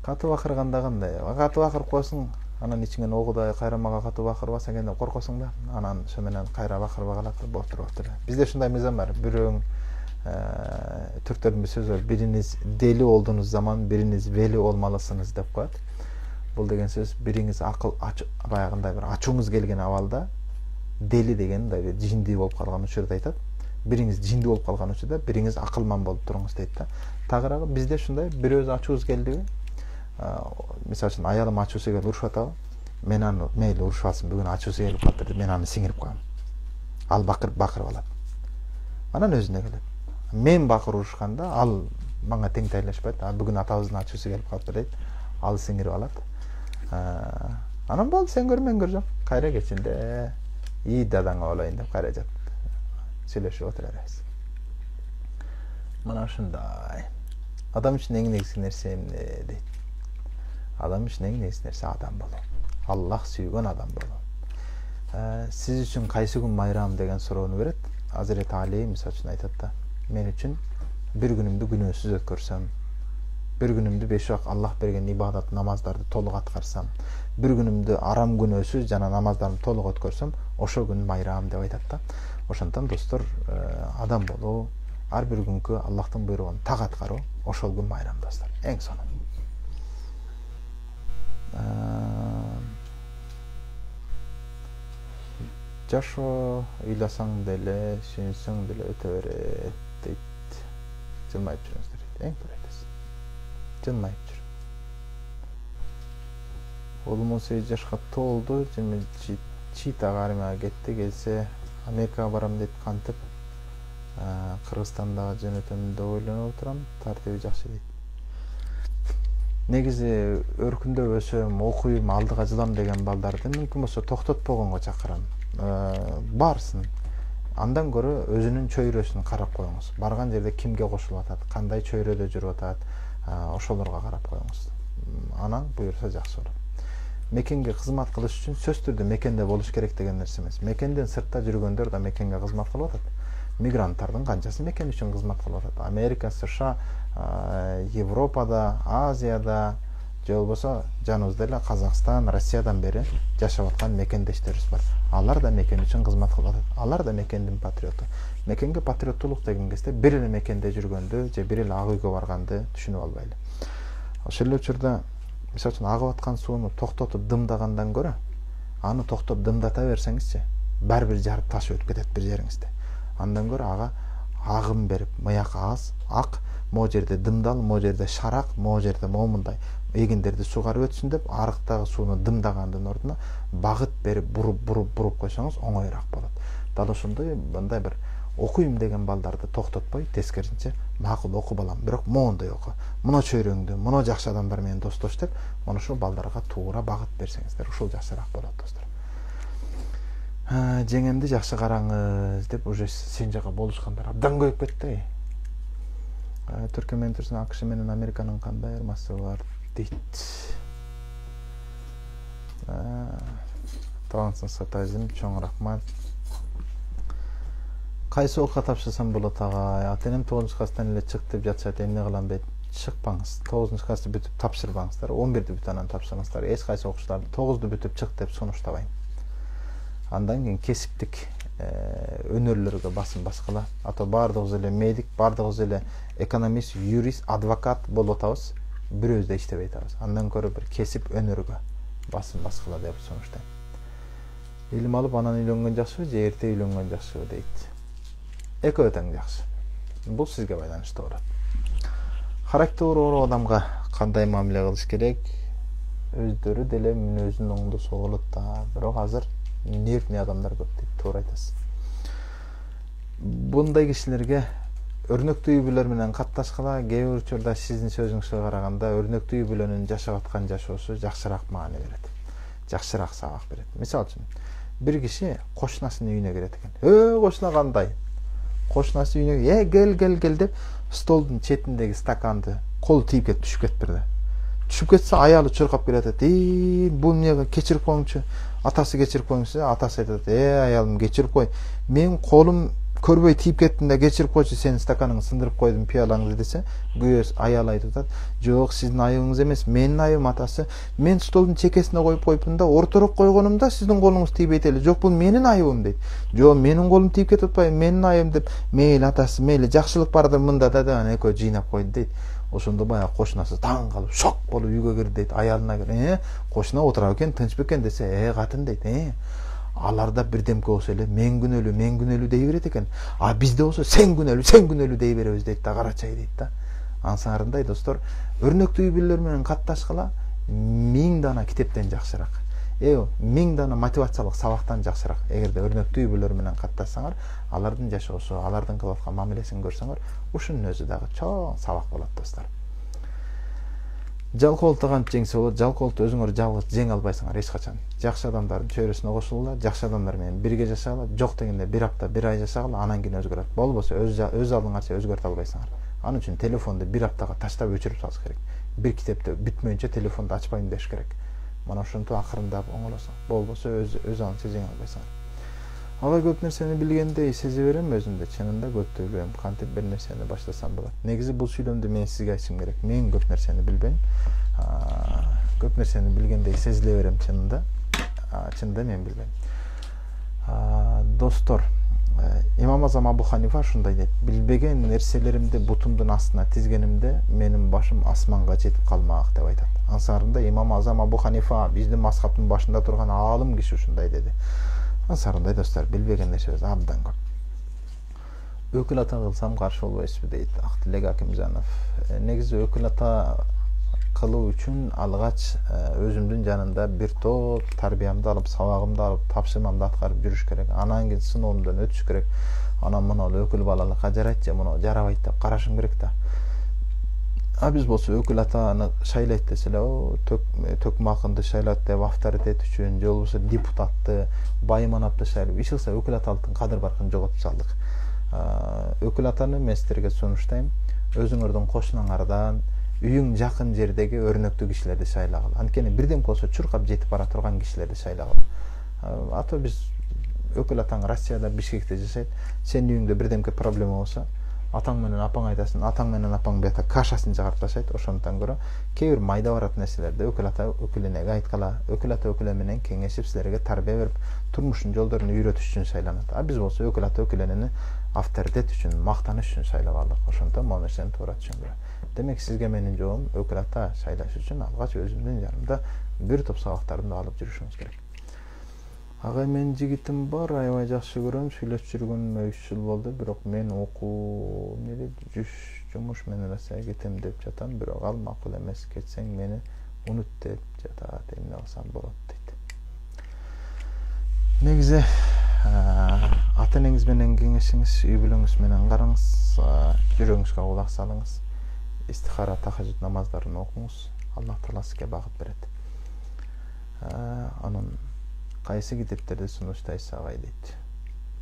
Катуу бакырганда кандай? Катуу бакырып коесуң, анан ичиңен огудай кайра мага катуу бакырбаса экен деп коркосуң да, анан ошо менен кайра бакырбай калат, болуп туруп эле. Бизде ушундай мыйзам бар. Бирөөң түрктөрдүн бир сөзү бар. Бириңиз дели олдуңуз заман, бириңиз вели олмалысыңыз деп коет. Бул деген сөз бириңиз акыл баягындай бир ачууңуз келген абалда дели деген мындай бир жиндүү болуп калган учурда айтат. Бириңиз жиндүү болуп калган учурда бириңиз акылман болуп туруңуз дейт да. Тагыраагы бизде ушундай бирөөбүз ачуубуз келдиби? Мисалы үчүн аялым ачуусу келип урушуп атабы? Мен аны мейли урушпасын, бүгүн ачуусу келип калыптыр деп мен аны сиңирип коем. Ал бакырып алат. Анан өзүнө келет. Мен бакыр урушканда ал мага тең тайлашпайт. Бүгүн атабыздын ачуусу келип калыптыр дейт. Ал сиңирип алат. Анан болду, сен көр, мен көржөм. Кайра кечинде ии дадаңа болоюн деп кайра жатат. сүйлөшүп отурабыз. Мына ушундай. Адам үчүн эң негизги нерсе эмне дейт? Адам үчүн эң негизги нерсе адам болуу. Аллах сүйгөн адам болуу. Сиз үчүн кайсы күн майрам деген суроону берет. Азирет Али мисалы үчүн айтат да, мен үчүн бир күнүмдү күнөөсүз өткөрсөм, бир күнүмдү 5 убак Аллах берген ибадат намаздарды толук аткарсам, бир күнүмдү арам күнөөсүз жана намаздарды толук өткөрсөм, ошол күн майрам деп айтат да. Ошондон достор, адам болуу, ар бир күнгө Аллахтын буйругун так аткаруу, ошол күн майрам достор. Эң сонун. Жашоо ыйласаң деле, сүйүнсөң деле өтө берет дейт. Жылмайып жүрүңүздөр дейт. Эң төрөйдөс. Жылмайып жүр. Улум 18 жашка толду, Читага армияга кетти, келсе Америкага барам дейт, кантип Кыргызстандагы жөнөтөм деп ойлонуп отурам, тартиби жакшы дейт. Негизи өркүндөп өсөм, окуйм, алдыга жылам деген балдарды мүмкүн болсо токтотпогонго чакырам. Барсын. Андан көрө өзүнүн чөйрөсүн карап коюңуз. Барган жерде кимге кошулуп атат, кандай чөйрөдө жүрүп атат, ошолорго карап коюңуз. Анан буюрса жакшы болот. Мекенге кызмат кылыш үчүн сөзсүз түрдө мекенде болуш керек деген нерсе эмес. Мекенден сыртта жүргөндөр да мекенге кызмат кылып атат. Мигранттардын канчасы мекен үчүн кызмат кылып атат. Америка, США, Европада, Азияда, же болбосо жаныбызда эле Казакстан, Россиядан бери жашап аткан мекендештерибиз бар. Алар да мекен үчүн кызмат кылып атат. Алар да мекендин патриоту. Мекенге патриоттулук деген кезде бир эле мекенде жүргөндү же бир эле ак үйгө барганды түшүнүп албайлы. Ошол эле учурда мисалы үчүн агып аткан сууну токтотуп дымдагандан көрө, аны токтоп дымдата берсеңизчи, баары бир жарып ташып өтүп кетет бир жериңизде. Андан көрө ага агым берип, мыяк аз, ак, могу жерде дымдал, могу жерде шарак, могу жерде момундай эгиндерди сугарып өтсүн деп, арыктагы сууну дымдагандын ордуна багыт берип, буруп койсоңуз оңоюраак болот. Дал ошондой мындай бир окуйм деген балдарды токтотпой, тескерисинче макул оку балам, бирок моундай оку. Мына чөйрөңдү, мына жакшы адамдар менен достош деп, мына ушул балдарга туура багыт берсеңиздер, ушул жакшыраак болот достор. Жеңемди жакшы караңыз деп уже сен жака болушкандар абдан көйүп кетти. Түркия менен Турсун, АКШ менен Американын кандай айырмасы бар дейт. Талантсың сатайзым, чоң рахмат. Кайсы окуга тапшырсам болот агай? Ата-энем 9-класстан эле чык деп жатышат, эмне кылам дейт. Чыкпаңыз. 9-классты бүтүп тапшырбаңыздар. 11-ди бүтүп анан тапшырыңыздар. Эч кайсы окуучуларды 9-ду бүтүп чык деп сунуштабайм. Андан кийин кесиптик өнөрлөргө басым баскыла. Ата баардыгыбыз эле медик, баардыгыбыз эле экономист, юрист, адвокат болуп атабыз. Бирөөбүз да иштебей атабыз. Андан көрө бир кесип өнөргө басым баскыла деп сунуштайм. Илим алып анан үйлөнгөн жакшыбы же эрте үйлөнгөн жакшыбы дейт. Экөө тең жакшы. Бул сизге байланыштуу болот. Характері адамга кандай мамиле кылыш керек? Өздөрү деле мүнөзүн оңдо соголот да, бирок азыр нервный адамдар көп дейт, туура айтасыз. Bunday кишилерге өрнөктүү үй бүлөлөр менен катташкыла, кээ бир учурда сиздин сөзүңүзгө караганда өрнөктүү үй бүлөнүн жашап аткан жашоосу жакшыраак маани берет. Жакшыраак сабак берет. Мисалы үчүн, бир киши кошунасынын үйүнө кирет экен. Кошуна кандай? Кошунасы үйүнө кел деп столдун четиндеги стаканды колу тийип кетип түшүп кетпирди. Түшүп кетсе аялы чуркап келет. Бул эмнеге кечирип коюңчу? Атасы кечирип коюңчу. Атасы айтат: аялым кечирип кой. Мен колум көрбөй тийип кеттим да кечирип койчу, сенин стаканыңды сындырып койдум, пиялаңды десе, күйөөсү аял айтып атат: жок, сиздин айыбыңыз эмес, менин айыбым атасы. Мен столдун чекесине коюп койпун да, орторок койгонумда сиздин колуңуз тийбейт эле. Жок, бул менин айыбым дейт. Жок, менин колум тийип кетип атпайбы, менин айыбым деп, мейли атасы, мейли жакшылык бардыр мында да, анан экөө жыйнап койду дейт. Ошондо баягы кошунасы таң калып, шок болуп үйгө кирди дейт. Аялына кирип: кошуна отура экен, тынч бекен десе, катын дейт. Аларда бирдемке болсо эле мен күнөөлүү дей берет экен. А бизде болсо сен күнөөлүү дей беребиз дейт да, карачай дейт да. Ансаарындай достор, өрнөктүү үй бүлөлөр менен катташкыла 1000 дана китептен жакшыраак. 1000 дана мотивациялык сабактан жакшыраак. Эгерде өрнөктүү үй бүлөлөр менен катташсаңар, алардын жашоосу, алардын кылып аткан мамилесин көрсөңөр, ушунун өзү дагы чоң сабак болот достор. Жалкоолукта кантип жеңсе болот? Жалкоолукта өзүңөр жалгыз жеңе албайсыңар эч качан. Жакшы адамдардын чөйрөсүнө кошулгула, жакшы адамдар менен бирге жашагыла, жок дегенде бир апта, бир ай жашагыла, анан кийин өзгөрөт. Болбосо өз алдыңарча өзгөртө албайсыңар. Анын үчүн телефонду бир аптага таштап өчүрүп салыш керек. Бир китепти бүтмөйүнчө телефонду ачпайм деш керек. Мана ошентип акырындап оңолосуң. Болбосо өз алдыңча жеңе албайсыңар. Алар көп нерсени билгендей сезе берем өзүмдө, чынында көптү билбейм. Кантип бир нерсени баштасам болот. Негизи бул сүйлөмдү мен сизге айтышым керек. Мен көп нерсени билбейм. Көп нерсени билгендей сезиле берем чынында. Чынында мен билбейм. Достор, Имам Азам Абу Ханифа ушундай дейт: билбеген нерселеримди бутумдун астына тизгенимде менин башым асманга жетип калмак деп айтат. Ансарында Имам Азам Абу Ханифа биздин мазхабтын башында турган аалым киши ушундай деди. Ансарындай достор, билбеген нерсебиз абдан көп. Өкүл ата кылсам каршы болбойсузбу дейт Актилек Акимжанов. Негизи өкүл ата кылуу үчүн алгач өзүмдүн жанымда бир топ тарбиямды алып, сабагымды алып, тапшырмамды аткарып жүрүш керек. Анан кийин сыноомдон өтүш керек. Анан мына өкүл балалыкка жарайт же муну жарабайт деп карашым керек да. Биз болсо өкүл атаны шайлайт десе эле, төкмакынды шайлат деп авторитет үчүн, же болбосо депутатты, байманапты шайлап, иш кылса өкүл аталыктын кадыр баркын жоготуп салдык. Өкүл атаны мен силерге сунуштайм. Өзүңөрдүн кошунаңардан, үйүң жакын жердеги өрнөктүү кишилерди шайлагыла. Анткени бирдем болсо чуркап жетип бара турган кишилерди шайлагыла. Ато биз өкүл атаң Россияда, Бишкекте жашайт. Сенин үйүңдө бирдемке проблема болсо, атаң менен апаң айтасың, атаң менен апаң бета кашасын чыгарып ташайт. Ошондон көрө кээ бир майда барат нерселерди өкүл ата өкүлүнө айткала, өкүл ата өкүлө менен кеңешип силерге тарбия берип, турмуштун жолдорун үйрөтүш үчүн шайланат. Биз болсо өкүл ата өкүлүнү авторитет үчүн, мактаныш үчүн шайлап алдык. Ошондон могу нерсени туура түшүнгүлө. Демек сизге менин жообум өкүл ата шайлаш үчүн алгач өзүмдүн жанымда бир топ сабактарды алып жүрүшүңүз керек. Агай, менин жигитим бар, аябай жакшы көрөм, сүйлөшүп жүргөнүмө 3 жыл болду, бирок мен окуу жумуш менен Россияга кетем деп жатам, бирок ал макул эмес, кетсең мени унут деп жатат, эмне кылсам болот дейт. Негизи ата энеңиз менен кеңешиңиз, үй бүлөңүз менен караңыз, жүрөгүңүзгө кулак салыңыз, истихара, тахажжуд намаздарын окуңуз, Аллах Таала сизге багыт берет. Анан кайсы китептерди сунуштайсыз агай дейт.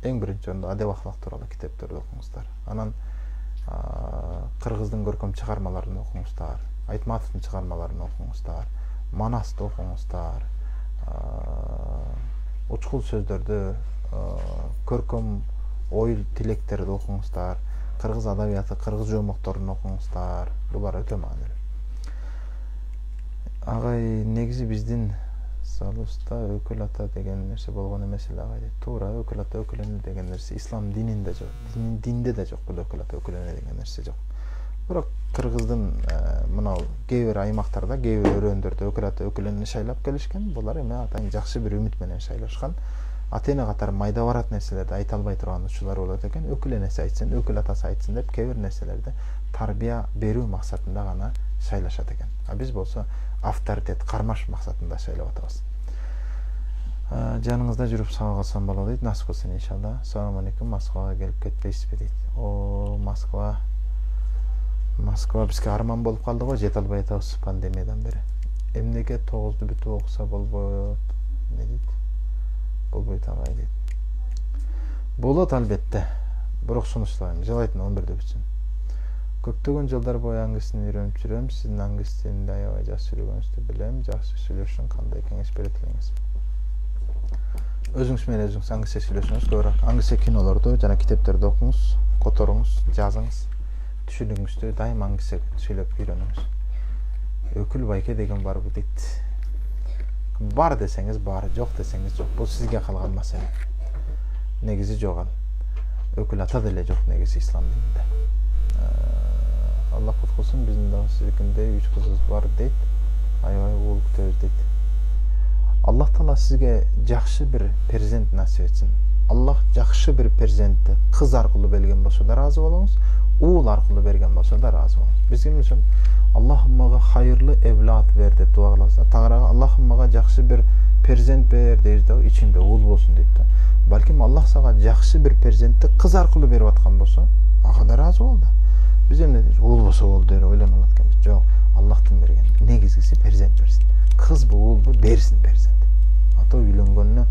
Эң биринчи орунда адеп ахлак тууралуу китептерди окуңуздар. Анан кыргыздын көркөм чыгармаларын окуңуздар, Айтматовдун чыгармаларын окуңуздар, Манасты окуңуздар, учкул сөздөрдү, көркөм ой тилектерди окуңуздар, кыргыз адабияты, кыргыз жоомокторун окуңуздар. Булар өтө маанилүү. Агай, негизи биздин Салуста өкүл ата деген нерсе болгон эмес эле агай дейт. Туура, өкүл ата өкүлөнү деген нерсе ислам дининде жок. Динде да жок бул өкүл ата өкүлөнү деген нерсе жок. Бирок кыргыздын мынау кээ бир аймактарда, кээ бир өрөөндөрдө өкүл ата өкүлөнү шайлап келишкен. Булар эми атаң жакшы бир үмүт менен шайлашкан. Ата эне катары майда барат нерселерди айта албай турган учурлар болот экен. Өкүл энеси айтсын, өкүл атасы айтсын деп кээ бир нерселерди тарбия берүү максатында гана шайлашат экен. Биз болсо авторитет кармаш максатында шайлап атабыз. Жаныңызда жүрүп сау калсам болот дейт. Насып кылсын иншалла. Assalamu алейкум. Москвага келип кетпейсизби дейт. Москва бизге арман болуп калды го, жете албай атабыз пандемиядан бери. Эмнеге 9-ду бүтүп окуса болбойт? Не дейт? Болбойт агай дейт. Болот албетте. Бирок сунуштайм, жалайтын 11-дө бүтсүн. Көптөгөн жылдар бою англистини үйрөнүп жүрөм. Сиздин англис тилинде аябай жакшы жүргөнүздү билем. Жакшы сүйлөшүш үчүн кандай кеңеш бере элеңиз? Өзүңүз менен өзүңүз англисче сүйлөшүңүз, көбүрөөк англисче кинолорду жана китептерди окуңуз, которуңуз, жазыңыз. Түшүнүгүңүздү дайыма англисче сүйлөп үйрөнүңүз. Өкүл байке деген барбы дейт. Бар десеңиз бар, жок десеңиз жок. Бул сизге калган маселе. Негизи жок ал. Өкүл ата деле жок негизи ислам дининде. Аллах куткулсун, биздин дагы сиздикиндей 3 кызыбыз бар дейт. Аябай уул күтөбүз дейт. Аллах Таала сизге жакшы бир перзент насип этсин. Аллах жакшы бир перзентти кыз аркылуу берген болсо да ыраазы болуңуз, уул аркылуу берген болсо да ыраазы болуңуз. Биз ким үчүн Аллахымага хайырлы эвлад бер деп дуа кылабыз. Тагырага Аллахымага жакшы бир перзент бер дейбиз да, ичинде уул болсун дейт да. Балким Аллах сага жакшы бир перзентти кыз аркылуу берип аткан болсо, ага да ыраазы бол да. Биз эмне дейбиз? Уул болсо болду деп ойлонуп атканбыз. Жок, Аллахтын берген негизгиси перзент берсин. Кызбы, уулбу берсин перзент. Ата үйлөнгөнүнө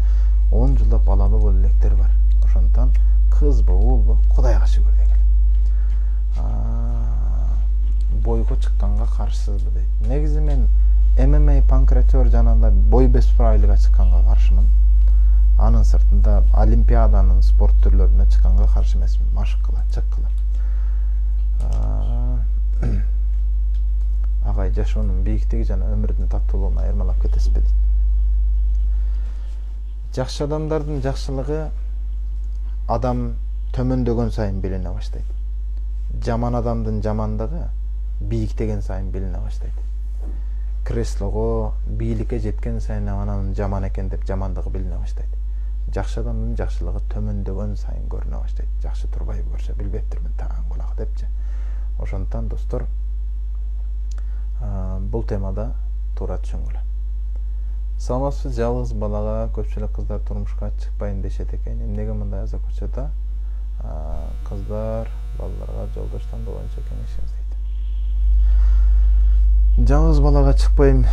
10 жылдап балалуу боло электер бар. Ошондон кызбы, уулбу Кудайга шүгүр дегил. Бойго чыкканга каршысызбы дейт. Негизи мен ММА панкратер жана бой бесправилига чыкканга каршымын. Анын сыртында олимпиаданын спорт түрлөрүнө чыкканга каршы эмесмин. Машык кыла, чыккыла. Агай жашоонун бийиктиги жана өмүрдүн таттуулугуна айырмалап кетесизби дейт. Жакшы адамдардын жакшылыгы адам төмөндөгөн сайын билине баштайт. Жаман адамдын жамандыгы бийиктеген сайын билине баштайт. Креслого, бийликке жеткен сайын анын жаман экен деп жамандыгы билине баштайт. Жакшы адамдын жакшылыгы төмөндөгөн сайын көрүнө баштайт. Жакшы турбайбы көрсө билбептирмин таң кулак депчи. Ошондон достор, бул темада туура түшүнгүлө. Саламатсыз, жалгыз балага көпчүлүк кыздар турмушка чыкпайын дешет экен. Эмнеге мындай азап көрсөтө? Кыздар балаларга жолдош тандоо боюнча кеңешиңиз дейт. Жалгыз балага чыкпайм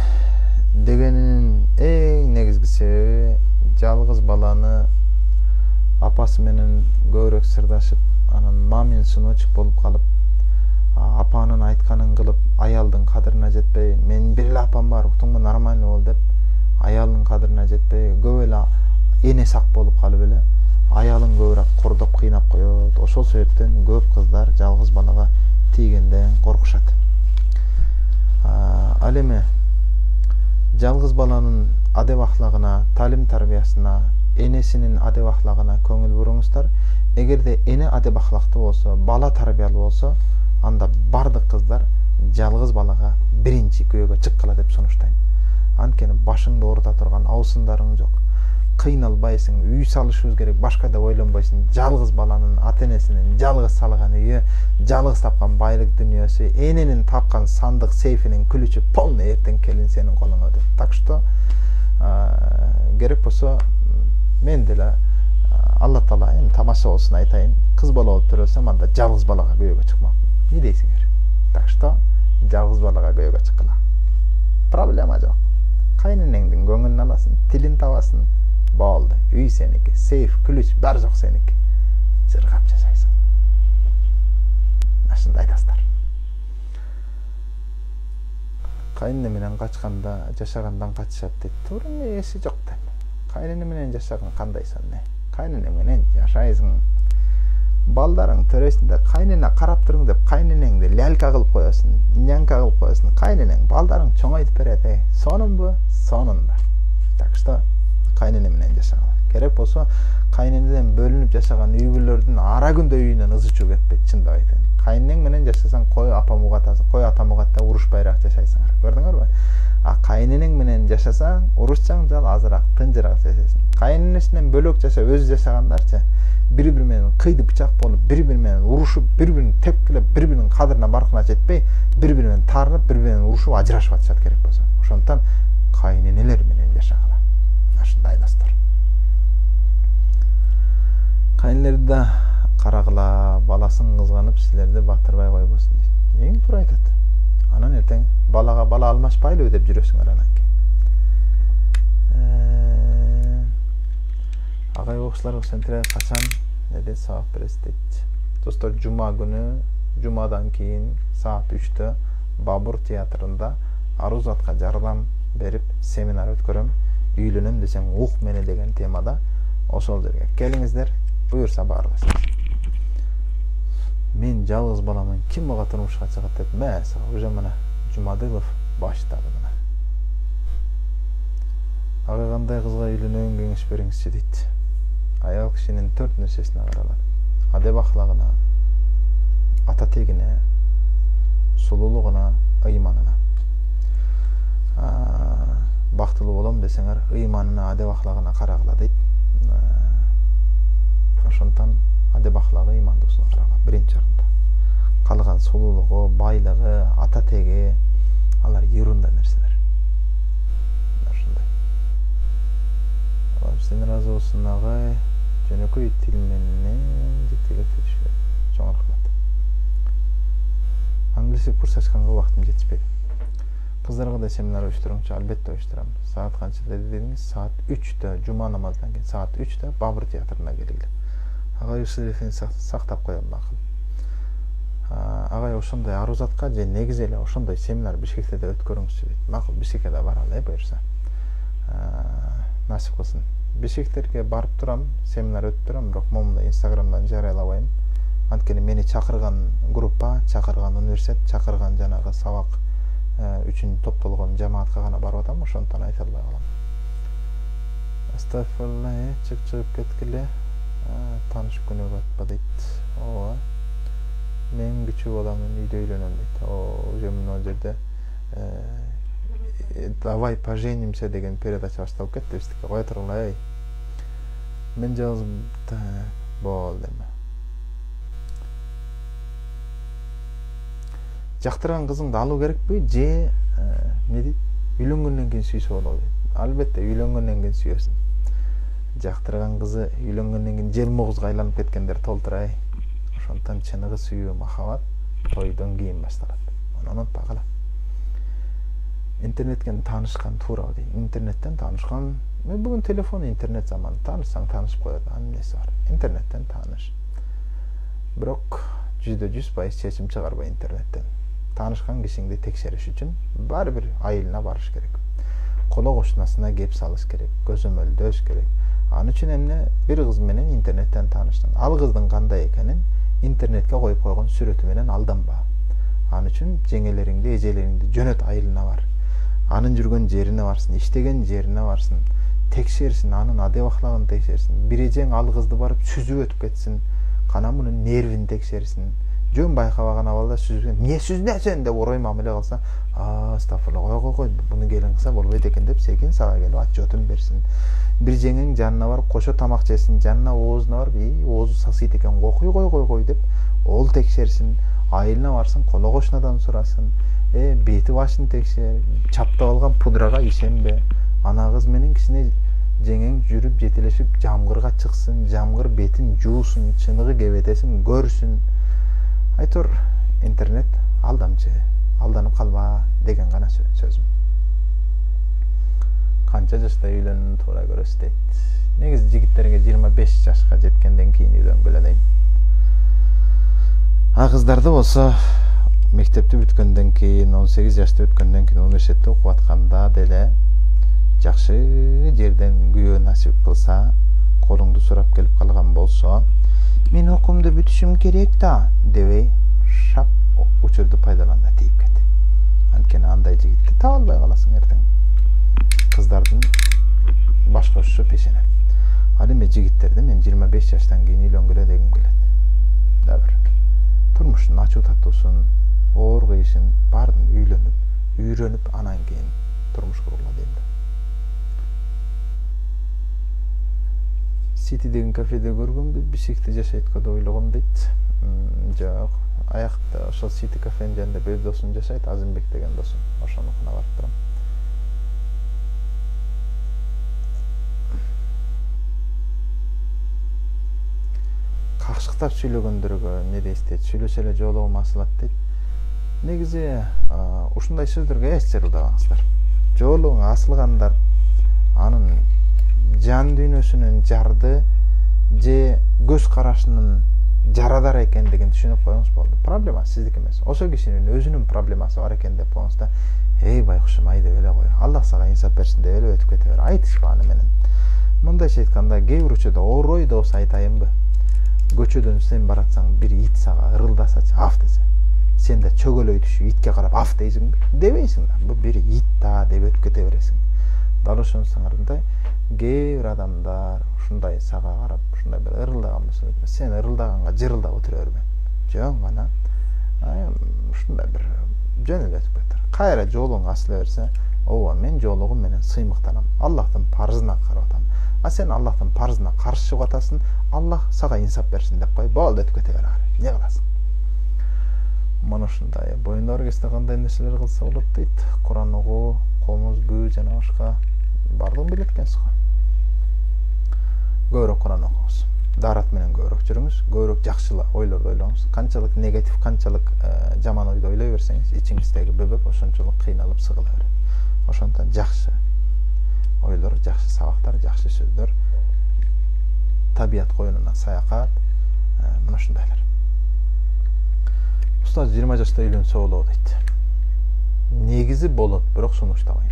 дегенин эң негизги себеби жалгыз баланы апасы менен көбүрөөк сырдашып, анан мамин сыночек болуп калып, апанын айтканын кылып, аялдын кадырына жетпей, мен бир эле апам бар, уктуңбу, нормально бол деп, аялдын кадырына жетпей, көп эле эне сак болуп калып эле, аялын көбүрөөк кордоп кыйнап коет. Ошол себептен көп кыздар жалгыз балага тийгенден коркушат. Ал эми жалгыз баланын адеп ахлагына, талим тарбиясына, энесинин адеп ахлагына көңүл буруңуздар. Эгерде эне адеп ахлактуу болсо, бала тарбиялуу болсо, анда бардык кыздар жалгыз балага биринчи күйөөгө чыккыла деп сунуштайм. Анткени башыңды оорута турган абысындарың жок. Кыйналбайсың, үй салышыбыз керек, башка деп ойлонбойсуң. Жалгыз баланын ата-энесинин жалгыз салган үйү, жалгыз тапкан байлык дүнүйөсү, эненин тапкан сандык сейфинин күлүчү полный эртең келин сенин колуңа деп. Так что керек болсо мен деле Алла Таала эми тамаша болсун айтайын. Кыз бала болуп төрөлсөм, анда жалгыз балага күйөөгө чыкмак. Не дейсиңер? Так что жалгыз балага күйөөгө чыккыла. Проблема жок. Кайненеңдин көңүлүн аласың, тилин табасың, болду. Үй сеники, сейф, күлүч бар жок сеники. Жыргап жашайсың. Ашында айтасыздар. Кайнене менен качканда жашагандан качышат дейт. Туура эси жок дейм. Кайнене менен жашаган кандайсың не? Кайнене менен жашайсың. Балдарың төрөсүндө кайнене карап туруң деп кайненеңди лялка кылып коесуң, нянка кылып коесуң. Кайненең балдарың чоңойтуп берет, сонунбу? Сонунда. Так что кайнене менен жашагыла. Керек болсо кайненеден бөлүнүп жашаган үй бүлөлөрдүн ара күндө үйүнөн ызы чуу кетпейт, чындап айтайын. Кайненең менен жашасаң, кой апам угатасың, кой атам угатта урушпайраак жашайсыңар. Көрдүңөрбү? Кайненең менен жашасаң, урушчаң жал азыраак, тынчыраак жашайсың. Кайненесинен бөлөк жашап өзү жашагандарчы бири-бири менен кыйды бычак болуп, бири-бири менен урушуп, бири-бирин тепкилеп, бири-биринин кадырына баркына жетпей, бири-бири менен таарынып, бири-бири менен урушуп, ажырашып атышат керек болсо. Ошондон кайненелер менен жашагыла. Ашындай достор. Кайнелерди карагыла, баласын кызганып, силерди батырбай койбосун дейт. Эң туура айтат. Анан эртең балага бала алмашпайлыбы деп жүрөсүңөр анан кийин. Агай окуучуларга сентре качан деди сабак бересиз дейт. Достор, жума күнү, жумадан кийин саат 3-тө Бабур театрында арузатка жардам берип семинар өткөрөм. Үйлөнөм десең ук мени деген темада. Ошол жерге келиңиздер, буюрса баарлашабыз. Мен жалгыз баламын, ким мага турмушка чыгат деп, мәсә, уже мына Жумадылов баштады мына. Ага кандай кызга үйлөнөөгө кеңеш бериңизчи дейт. Аял кишинин 4 нерсесине каралат. Адеп ахлагына, ата тегине, сулуулугуна, ыйманына. Бактылуу болом десеңер, ыйманына, адеп ахлагына карагыла дейт. Ошондон адеп ахлагы, ыймандуулугуна карагыла биринчи орунда. Калган сулуулугу, байлыгы, ата теги, алар юрунда нерселер. Ошондой. Сен ыраазы болсун агай. Жөнөкөй тил менен жеткилеп түшүп. Чоң рахмат. Англис курс ачканга убактым жетишпейт. Кыздарга да семинар уюштуруңчу, албетте уюштурам. Саат канчада дедиңиз? Саат 3-тө, жума намаздан кийин саат 3-тө Бабыр театрына келгиле. Агай ушул эфирин сактап коем макул. Агай ошондой арузатка же негизи эле ошондой семинар Бишкекте да өткөрүңүзчү дейт. Макул, Бишкекке да баралы, буюрса. Насип кылсын. Бишкектерге барып турам, семинар өтүп турам, бирок момунда Инстаграмдан жарыялабайм. Анткени мени чакырган группа, чакырган университет, чакырган жанагы сабак үчүн топтолгон жамаатка гана барып атам, ошондон айта албай калам. Астафирулла, чыгып кеткиле. Тааныш күнү атпа дейт. Ооба. Мен күчүү баламын, үйдө үйлөнөм дейт. Уже мына жерде давай поженимся деген передача башталып кетти биздики. Кое тургула, эй. Мен жалгыз болдум. Жактырган кызыңды алуу керекпи же эмне дейт? Үйлөнгөндөн кийин сүйсө болобу дейт. Албетте үйлөнгөндөн кийин сүйөсүң. Жактырган кызы үйлөнгөндөн кийин желмогузга айланып кеткендер толтура, эй. Ошондон чыныгы сүйүү, махабат тойдон кийин башталат. Муну унутпагыла. Интернеттен таанышкан туура дейт. Интернеттен таанышкан, бүгүн телефон, интернет заманы. Таанышсаң таанышып коет. Эмнеси бар? Интернеттен тааныш. Бирок 100% чечим чыгарбай интернеттен. Таанышкан кишиңди текшериш үчүн баары бир айылына барыш керек. Коло кошунасына кеп салыш керек, көзөмөлдөш керек. Аны үчүн эмне? Бир кыз менен интернеттен тааныштың. Ал кыздын кандай экенин интернетке коюп койгон сүрөтү менен алданба. Аны үчүн жеңелериңди, эжелериңди жөнөт, айылына бар. Анын жүргөн жерине барсын, иштеген жерине барсын, текшерсин, анын адеп аклагын текшерсин. Бир эжең ал кызды барып сүзүп өтүп кетсин, кана мунун нервин текшерсин. Жөн байкабаган абалда сүзүп, эмне сүзнөсүн деп орой мамиле кылса, астафырла, кой, буну келин кылса болбойт экен деп секин сага келип отчетун берсин. Бир жеңең жанына барып кошо тамак жесин, жанына оозуна барып, оозу сасыйт экен, кой деп ол текшерсин. Айылына барсын, коло кошунадан сурасын, бети башын текшер, чаптап алган пудрага ишенбе. Ана кыз менен кичине жеңең жүрүп жетелешип жамгырга чыксын, жамгыр бетин жуусун, чыныгы кебетесин көрсүн. Айтор, интернет алдамчы, алданып калба деген гана сөзүм. Канча жашта үйлөнүүнү туура көрөсүз дейт. Негизи жигиттерге 25 жашка жеткенден кийин үйлөнгүлө дейм. Кыздарды болсо мектепти бүткөндөн кийин, 18 жашты өткөндөн кийин университетте окуп атканда деле жакшы жерден күйөө насип кылса, колуңду сурап келип калган болсо, мен окуумду бүтүшүм керек да дебей, шап учурду пайдаланда тийип кет. Анткени андай жигитти таба албай каласың эртең. Кыздардын башка ушу пешене. Ал эми жигиттерди мен 25 жаштан кийин үйлөнгүлө дегим келет. Да бир турмуштун ачуу таттуусун, оор кыйышын баарын үйрөнүп, анан кийин турмуш кургула дейм да. Сити деген кафеде көргөнбү, Бишкекте жашайт го деп ойлогом дейт. Жок, аякта ошол Сити кафенин жанында бир досум жашайт, Азимбек деген досум. Ошонукуна барып турам. Какшыктап сүйлөгөндөргө эмне дейсиз? Сүйлөсө эле жоологум асылат дейт. Негизи ушундай сөздөргө эч жарылдабаңыздар. Жоолугуң асылгандар анын жан дүйнөсүнүн жарды же көз карашынын жарадар экендигин түшүнүп коюңуз болду. Проблема сиздики эмес. Ошол кишинин өзүнүн проблемасы бар экен деп коюңуз да, байкушум ай деп эле кой. Аллах сага инсап берсин деп эле өтүп кете бер. Айтышпа аны менен. Мындайча айтканда, кээ бир учурда орой да болсо айтайынбы? Көчөдөн сен баратсаң, бир ит сага ырылдасачы, аф десе. Сен да чөгөлөй түшүп итке карап аф дейсиңби? Дебейсиң да. Бул бир ит да деп өтүп кете бересиң. Дал ошонусуңардай кээ бир адамдар ушундай сага карап, ушундай бир ырылдаган болсо, сен ырылдаганга жырылдап отура берме. Жөн гана ушундай бир жөн эле өтүп кетер. Кайра жолуң асыла берсе, ооба, мен жолугум менен сыймыктанам. Аллахтын парызына карап атам. А сен Аллахтын парызына каршы чыгып атасың, Аллах сага инсап берсин деп кой. Болду, өтүп кете бер. Эмне кыласың? Мына ушундай боюнда бар кезде кандай нерселер кылса болот дейт. Куран окуу, комуз бүү жана башка бардыгын билет экенсиз го. Көбүрөөк Куран окуңуз. дарат менен көбүрөөк жүрүңүз, көбүрөөк жакшы ойлорду ойлоңуз. Канчалык негатив, канчалык жаман ойду ойлой берсеңиз, ичиңиздеги бөбөк ошончолук кыйналып сыгыла берет. Ошондон жакшы ойлор, жакшы сабактар, жакшы сөздөр, табият коюнуна саякат, мына ушундайлар. Устаз 20 жашта үйлөнсө болобу дейт. Негизи болот, бирок сунуштабайм.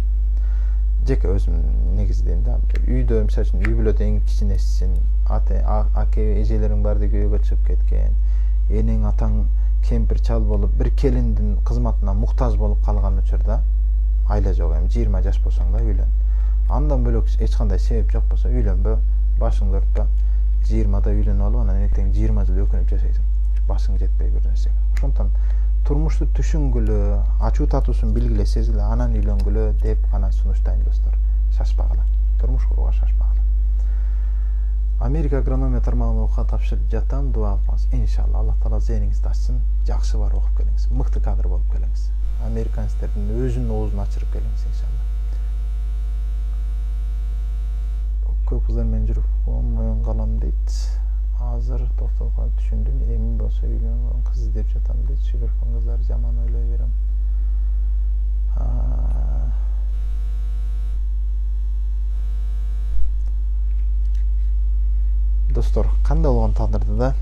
Жеке өзүм негизи дейм да. Үйдө, мисалы үчүн, үй бүлөдө эң кичинесисин, аке эжелериң баарды күйөөгө чыгып кеткен, энең атаң кемпир чал болуп, бир келиндин кызматына муктаж болуп калган учурда айла жок эми 20 жаш болсоң да үйлөн. Андан бөлөк эч кандай себеп жок болсо үйлөнбө, башыңды өртпө. 20да үйлөнүп алып, анан эртең 20 жыл өкүнүп жашайсың. Башың жетпей бир нерсеге. Ошондон турмушту түшүнгүлө, ачуу татуусун билгиле, сезгиле, анан үйлөнгүлө деп гана сунуштайм достор. Шашпагыла. Турмуш курууга шашпагыла. Америка агрономия тармагына окууга тапшырып жатам, дуа кылыңыз. Иншалла Аллах таала зээниңизди ачсын, жакшы бар окуп келиңиз, мыкты кадр болуп келиңиз. Американецтердин өзүнүн оозун ачырып келиңиз иншалла. Көп кыздар менен жүрүп моюн калам дейт. Азыр токтолгон түшүндүм, эми болсо үйлөнгөн кыз издеп жатам дейт. Шүбөркөн кыздар жаман ойлой берем. Достор, кандай болгон тагдырда да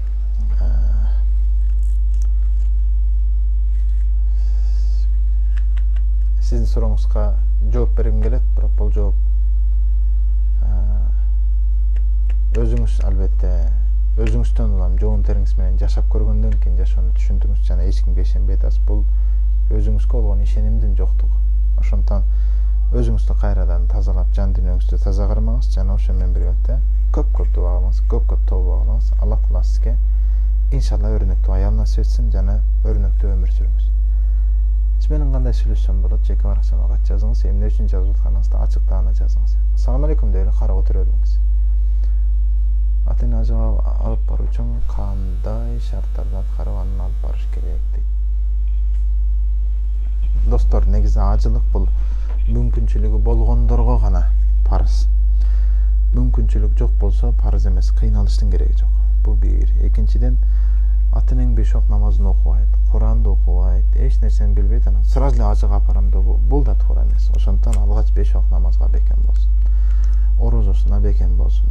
сиздин сурооңузга жооп бергим келет, бирок бул жооп өзүңүз албетте өзүңүздөн улам жоон териңиз менен жашап көргөндөн кийин жашоону түшүндүңүз жана эч кимге ишенбей атасыз. Бул өзүңүзгө болгон ишенимдин жоктугу. Ошондон өзүңүздү кайрадан тазалап, жан дүйнөңүздү таза кармаңыз жана ошо менен бирге көп дуа кылыңыз, көп тобо кылыңыз. Аллах таала сизге иншалла өрнөктүү аял насип этсин жана өрнөктүү өмүр сүрүңүз. Сиз менен кандай сүйлөшсөм болот? Жеке баракчама кат жазыңыз, эмне үчүн жазып атканыңызды ачык даана жазыңыз. Ассаламу алейкум деп эле карап отура бербеңиз. Ата-эне ажыга алып баруу үчүн кандай шарттарды аткарып анан алып барыш керек дейт. Достор, негизи ажылык бул мүмкүнчүлүгү болгондорго гана парыз. Мүмкүнчүлүк жок болсо парыз эмес, кыйналыштын кереги жок. Бул бир. Экинчиден, ата-энең 5 вакыт намазын окубайт, Куранды окубайт, эч нерсени билбейт, анан сразу эле ажыга апарам деп бул да туура эмес. Ошондон алгач 5 вакыт намазга бекем болсун. Орозосуна бекем болсун.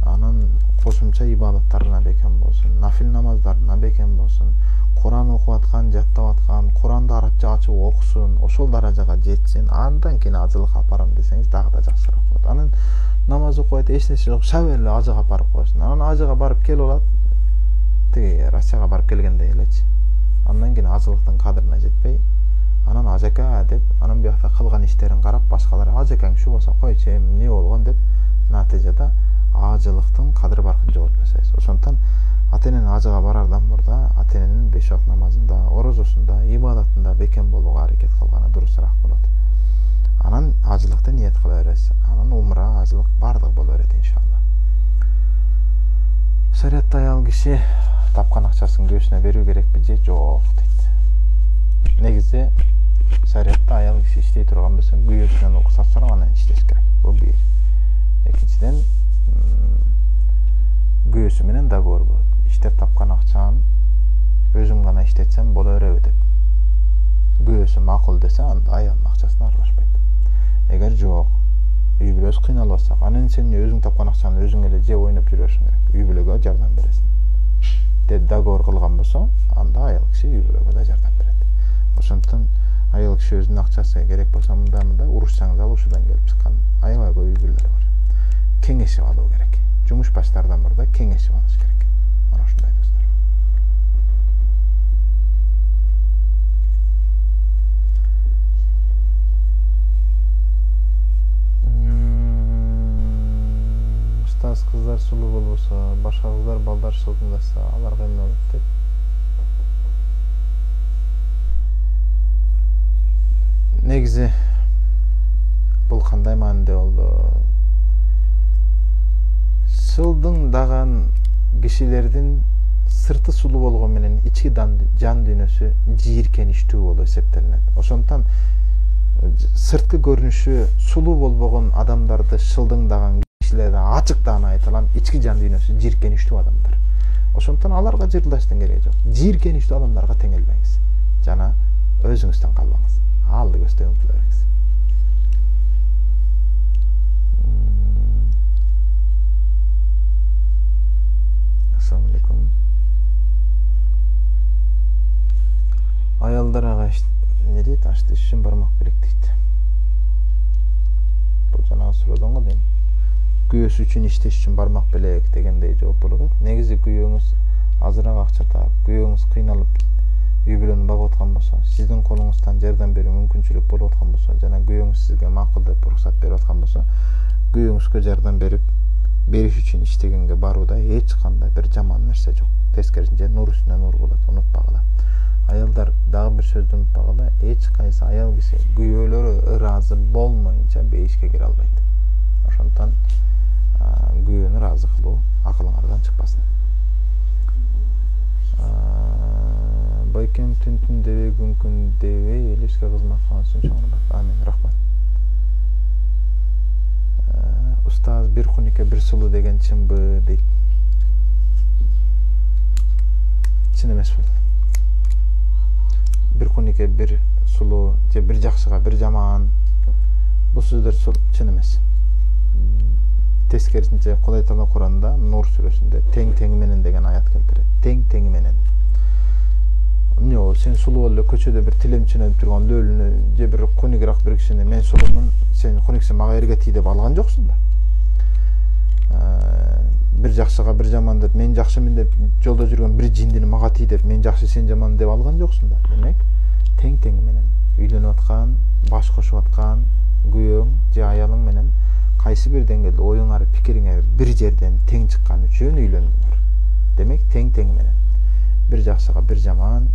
Анан кошумча ибадаттарына бекем болсун, нафил намаздарына бекем болсун, Куран окуп аткан, жаттап аткан, Куранды арабча ачып окусун, ошол даражага жетсин, андан кийин ажылыкка апарам десеңиз дагы да жакшыраак болот. Анан намаз окубайт, эч нерсе жок, шабер эле ажыга апарып коесуң. Анан ажыга барып келип алат, тиги Россияга барып келгендей элечи. Андан кийин ажылыктын кадырына жетпей, анан ажака деп, анан биякта кылган иштерин карап башкалар ажакаң ушу болсо койчу, эмне болгон деп натыйжада ажылыктын кадыры баркын жоготуп жасайсыз. Ошондон ата-энени ажыга барардан мурда ата-эненин 5 вакыт намазында, орозосунда, ибадатында бекем болууга аракет кылганы дурусураак болот. Анан ажылыкты ниет кыла бересиз. Анан умра, ажылык бардыгы боло берет иншалла. Шариатта аял киши тапкан акчасын күйөөсүнө берүү керекпи же жок дейт. Негизи шариатта аял киши иштей турган болсо күйөөсүнөн уруксат сурап анан иштеш керек. Бул бир. Экинчиден, күйөөсү менен договор болот. Иштеп тапкан акчаны өзүм гана иштетсем боло береби деп. Күйөөсү макул десе, анда аялдын акчасына аралашпайт. Эгер жок, үй бүлөсү кыйналып атса, анан сен өзүң тапкан акчаны өзүң эле жеп ойноп жүрө беришиң керек. Үй бүлөгө жардам бересиң деп договор кылган болсо, анда аял киши үй бүлөгө да жардам берет. Ошондон аял киши өзүнүн акчасы керек болсо мындай урушсаңыз ал ушудан келип чыккан аябай көп үй бүлөлөр бар. Кеңешип алуу керек. Жумуш баштардан мурда кеңешип алыш керек. Мына ушундай достор. Устаз, кыздар сулуу болбосо, башка кыздар балдар шылтыңдаса, аларга эмне болот деп. Негизи бул кандай маанилде болду? Шылдыңдаган кишилердин сырты сулуу болгон менен ички жан дүйнөсү жийиркеничтүү болуп эсептелинет. Ошондон сырткы көрүнүшү сулуу болбогон адамдарды шылдыңдаган кишилерде ачыктан айтылам, ички жан дүйнөсү жийиркеничтүү адамдар. Ошондон аларга жырылдаштын кереги жок. Жийиркеничтүү адамдарга теңелбеңиз жана өзүңүздөн калбаңыз. Алды көздөй умтула бериңиз. Assalamu alaikum. Аялдар ага не дейт? Ашты үчүн бармак белек дейт. Бул жанагы суроодон го дейм. Күйөөсү үчүн иштеш үчүн бармак белек дегендей жооп болот. Негизи күйөөңүз азыраак акча таап, күйөөңүз кыйналып үй бүлөнү багып аткан болсо, сиздин колуңуздан жардам берүү мүмкүнчүлүк болуп аткан болсо, жана күйөөңүз сизге макул деп уруксат берип аткан болсо, күйөөңүзгө жардам бериш үчүн иштегенге барууда эч кандай бир жаман нерсе жок. Тескерисинче нур үстүнө нур болот, унутпагыла. Аялдар дагы бир сөздү унутпагыла, эч кайсы аял киши күйөөлөрү ыраазы болмоюнча бейишке кире албайт. Ошондон күйөөнү ыраазы кылуу акылыңардан чыкпасын. Байкем түн дебей, күн дебей, элибизге кызмат кылган үчүн чоң рахмат. Амин, рахмат. Устаз бир кунике бир сулуу деген чынбы дейт. Чын эмес бул. Бир кунике бир сулуу же бир жакшыга бир жаман бул сөздөр чын эмес. Тескерисинче Кудай Таала Куранда Нур сүрөсүндө тең менен деген аят келтирет. Тең менен. Сен сулуу эле көчөдө бир тилемчинеп турган лөлүнү же бир кунигирак бир кишини мен сулуумун, сен куниксиң мага эргетий деп алган жоксуң да. Бир жакшыга бир жаман деп мен жакшымын деп жолдо жүргөн бир жиндини мага тий деп мен жакшы сен жаман деп алган жоксуң да. Демек тең менен үйлөнүп аткан, баш кошуп аткан күйөөң же аялың менен кайсы бир деңгээлде оюңар, пикириңер бир жерден тең чыккан үчүн үйлөндүңөр. Демек тең менен бир жакшыга бир жаман,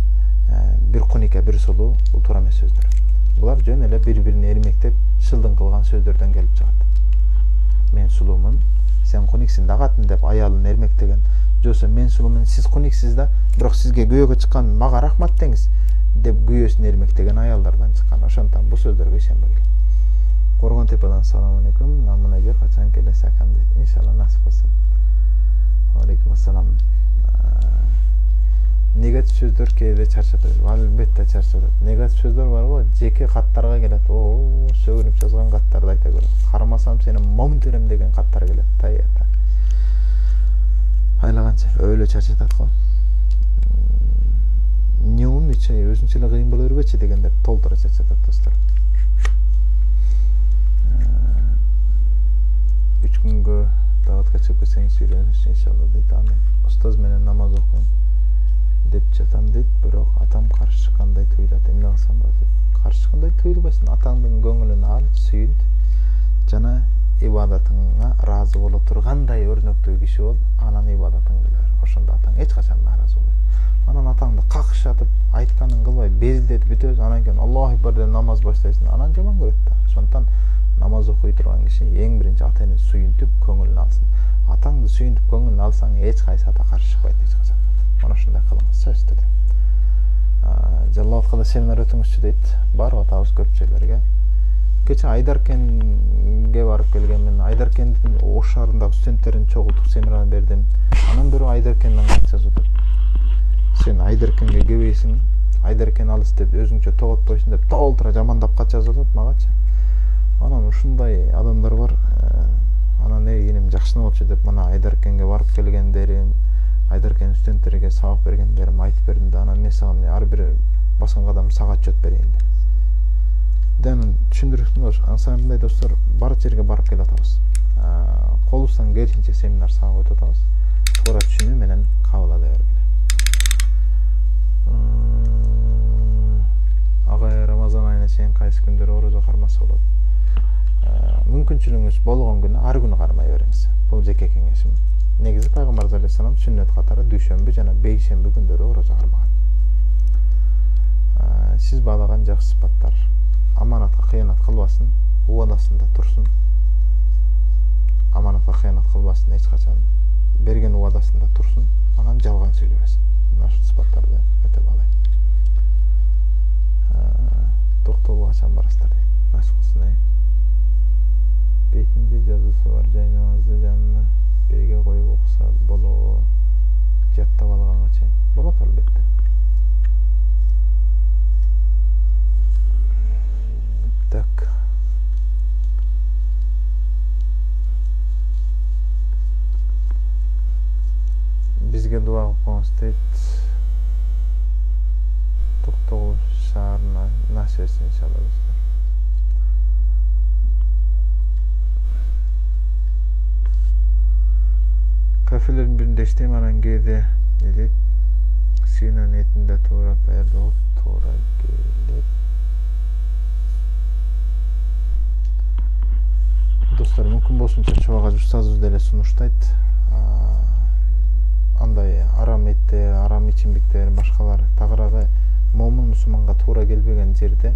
бир кунике бир сулуу бул туура эмес сөздөр. Булар жөн эле бири-бирине эрмектеп шылдың кылган сөздөрдөн келип чыгат. Мен сулуумун, сен куниксиң дагатын деп аялын эрмектеген, жосо мен сулуумун, сиз куниксиз да, бирок сизге күйөөгө чыккан мага рахмат деңиз деп күйөөсүн эрмектеген аялдардан чыккан. Ошондон бул сөздөргө ишенбегиле. Коргон Тепеден салам алейкум. Намынаге качан келесакам дейт. Иншалла насип болсун. Алейкум ассалам. Негатив сөздөр кээде чарчатат. Албетте чарчатат. Негатив сөздөр барбы? Жеке каттарга келет. Сөгүнүп жазган каттарды айта көрөм. Кармасам сени момун терем деген каттар келет. Таята. Айлаганча өлө чарчатат го. Не умничай, өзүнчө эле кыйын боло бербечи дегендер толтура чарчатат достор. 3 күнгө даатка чыгып кетсеңиз үйрөнүш иншалла дейт. Амин. Устаз менен намаз окуйм деп жатам дейт, бирок атам каршы чыккандай туюлат. Эмне кылсам болот дейт. Каршы чыккандай туюлбайсың. Атаңдын көңүлүн ал, сүйүнт жана ибадатыңа ыраазы боло тургандай өрнөктүү киши бол, анан ибадатыңды кыла бер. Ошондо атаң эч качан нааразы болбойт. Анан атаңды какшатып, айтканын кылбай, безилдетип бүтөбүз, анан кийин Аллаху акбар деп намаз баштайсың. Анан жаман көрөт да. Ошондон намаз окуй турган киши эң биринчи ата энени сүйүнтүп көңүлүн алсын. Атаңды сүйүнтүп көңүлүн алсаң эч кайсы ата каршы чыкпайт эч качан. Мана ушундай кылыңыз, сөз түрдө. Жалал-абадка да семинар өтүңүзчү дейт. Барып атабыз көп жерлерге. Кече Айдаркенге барып келгенмин. Айдаркендин Ош шаарындагы студенттерин чогултуп семинар бердим. Анан бирөө Айдаркенден кат жазып атат. Сен Айдаркенге келбейсиң, Айдаркен алыс деп өзүңчө тоготпойсуң деп толтура жамандап кат жазып атат магачы. Анан ушундай адамдар бар. Анан энем жакшы болчу деп мына Айдаркенге барып келгендерим, Айдаркен студенттерге сабак бергендерим айтып бердим да, анан мен сага ар бир баскан кадам сага отчет берейин деп. Ден түшүндүрүктүм. Ансамындай достор, бар жерге барып келип атабыз. Колубуздан келишинче семинар сабак өтүп атабыз. Туура түшүнүү менен кабыл ала бергиле. Агай Рамазан айына чейин кайсы күндөрү орозо кармаса болот? Мүмкүнчүлүгүңүз болгон күнү ар күнү кармай бериңиз. Бул жеке кеңешим. Негизи Пайгамбар алейхисалам сүннөт катары дүйшөмбү жана бейшемби күндөрү орозо кармаган. Сиз баалаган жакшы сыпаттар: аманатка кыянат кылбасын, убадасында турсун. Аманатка кыянат кылбасын эч качан, берген убадасында турсун, анан жалган сүйлөбөсүн. Мына ушул сыпаттарды өтө баалайм. Токтоого качан барасыздар дейт. Насип кылсын. бетинде жазуусу бар. Жай намазды жанына бирге коюп окуса болобу? Жаттап алганга чейин. Болот албетте. Так. Бизге дуа кылып коюңуз дейт. Токтогул шаарына насып этсин иншалла достор. Кафелердин биринде иштейм, анан кээде элек сыйнан этинде туура даярдоо туура келет. Достор, мүмкүн болсунча чоң ага устазыбыз деле сунуштайт. Андай арам этте, арам ичимдиктер, башкалар тагыраагы момун мусулманга туура келбеген жерде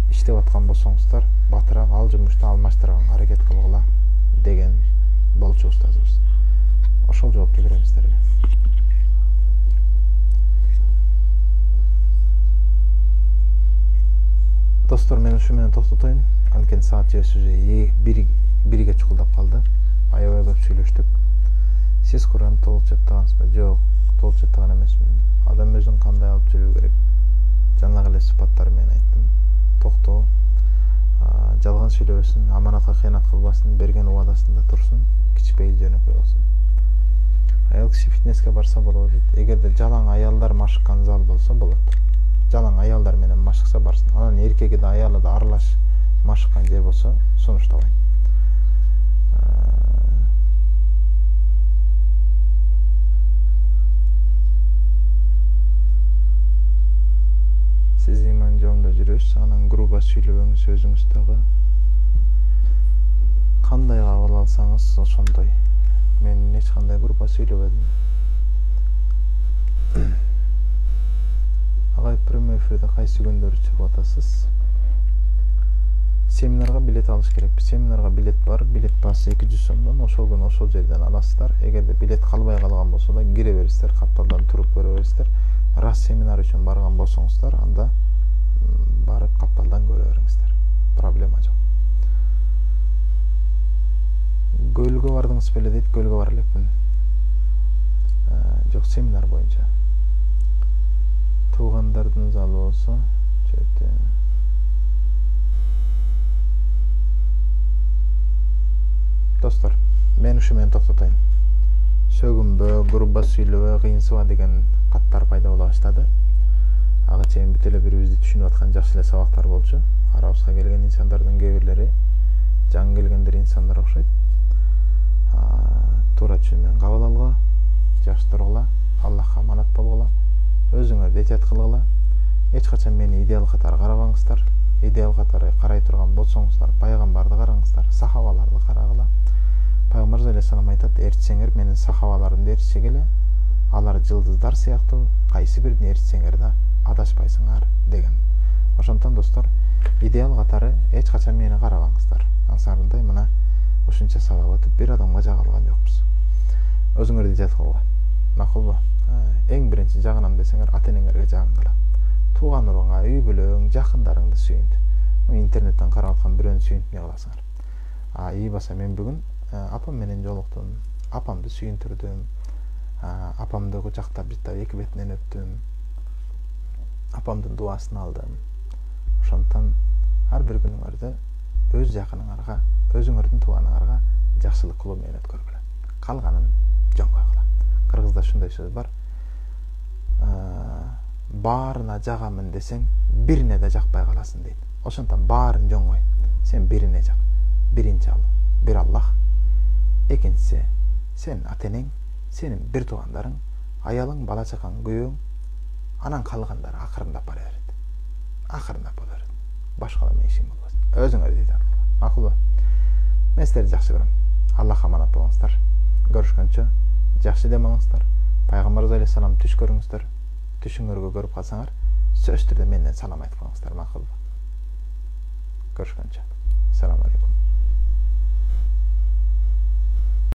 иштеп аткан болсоңуздар, батыраак ал жумушту алмаштырганга аракет кылгыла деген болчу устазыбыз. Ошол жоопту беребиз силерге. Достор, мен ушу менен токтотоюн. Анткени саат жебиз уже бирге чукулдап калды. Аябай көп сүйлөштүк. Сиз Куранды толук жаттагансызбы? Жок, толук жаттаган эмесмин. Адам өзүн кандай алып жүрүү керек? Жанагы эле сыпаттары менен айттым. Токтоо, жалган сүйлөбөсүн, аманатка кыянат кылбасын, берген убадасында турсун, кичпейил жөнөкөй болсун. Аял киши фитнеске барса болот. Эгерде жалаң аялдар машыккан зал болсо болот. Жалаң аялдар менен машыкса барсын. Анан эркеги да аялы да аралаш машыккан жер болсо сунуштабайм. Сиз иман жолунда жүрөсүз, анан грубо сүйлөбөңүз, өзүңүз дагы кандай кабыл алсаңыз ошондой. Мен эч кандай грубо сүйлөбөдүм. Агай, прямой эфирде кайсы күндөрү чыгып атасыз? Семинарга билет алыш керекпи. Семинарга билет бар. Билет баасы 200 сомдон. Ошол күнү ошол жерден аласыздар. Эгерде билет калбай калган болсо да кире бересиздер, капталдан туруп көрө бересиздер. Раз семинар үчүн барган болсоңуздар, анда барып капталдан көрө бериңиздер. Проблема жок. Көлгө бардыңыз беле дейт, көлгө бар элекмин. Жок, семинар боюнча. Туугандардын залы болсо, чөтө. Достор, мен ушу менен токтотойм. Сөгүнбө, грубо сүйлөбө, кыйынсыба деген каттар пайда боло баштады. Ага чейин бүт эле бирибизди түшүнүп аткан жакшы эле сабактар болчу. Арабызга келген инсандардын кээ бирлери жаңы келгендер инсандар окшойт. Туура түшүнүп кабыл алгыла, жакшы тургула, Аллахка аманат болгула, өзүңөрдү этият кылгыла. Эч качан мени идеал катары карабаңыздар. Идеал катары карай турган болсоңуздар, пайгамбарды караңыздар, сахабаларды карагыла. Пайгамбар алейхиссалам айтат, эртсеңер менин сахабаларымды эртсегеле, алар жылдыздар сыяктуу, кайсы бирин эртсеңер да адашпайсыңар деген. Ошондон достор, идеал катары эч качан мени карабаңыздар. Аңсарындай мына ушунча сабак өтүп бир адамга жага алган жокпуз. Өзүңөрдү этият кылгыла. Макулбу? Эң биринчи жагынам десеңер, ата-энеңерге жагынгыла. Тууган урунга, үй бүлөң, жакындарыңды сүйүнт. Интернеттен карап аткан бирөөнү сүйүнүп эмне кыласыңар? Ий баса мен бүгүн апам менен жолуктум, апамды сүйүндүрдүм, апамды кучактап жыттап эки бетинен өптүм, апамдын дубасын алдым. Ошондон ар бир күнүңөрдү өз жакыныңарга, өзүңөрдүн тууганыңарга жакшылык кылуу менен өткөргүлө. Калганын жөн койгула. Кыргызда ушундай сөз бар. Баарына жагамын десең, бирине да жакпай каласың дейт. Ошондон баарын жөн кой. Сен бирине жак. Биринчи ал бир Аллах, экинчиси сен ата-энең, сенин бир туугандарың, аялың, бала чакаң, күйөөң, анан калгандары акырындап бара берет. Акырындап боло берет. Башкалар менен ишиң болбос. Өзүңөрдү этият кылгыла. Макулбу? Мен силерди жакшы көрөм. Аллахка аманат болуңуздар. Көрүшкөнчө жакшы дем алыңыздар. Пайгамбар алейхиссалам түш көрүңүздөр. Түшүңөргө көрүп калсаңар, сөзсүз түрдө менден салам айтып коюңуздар. Макулбу? Көрүшкөнчө. Assalamu alaikum.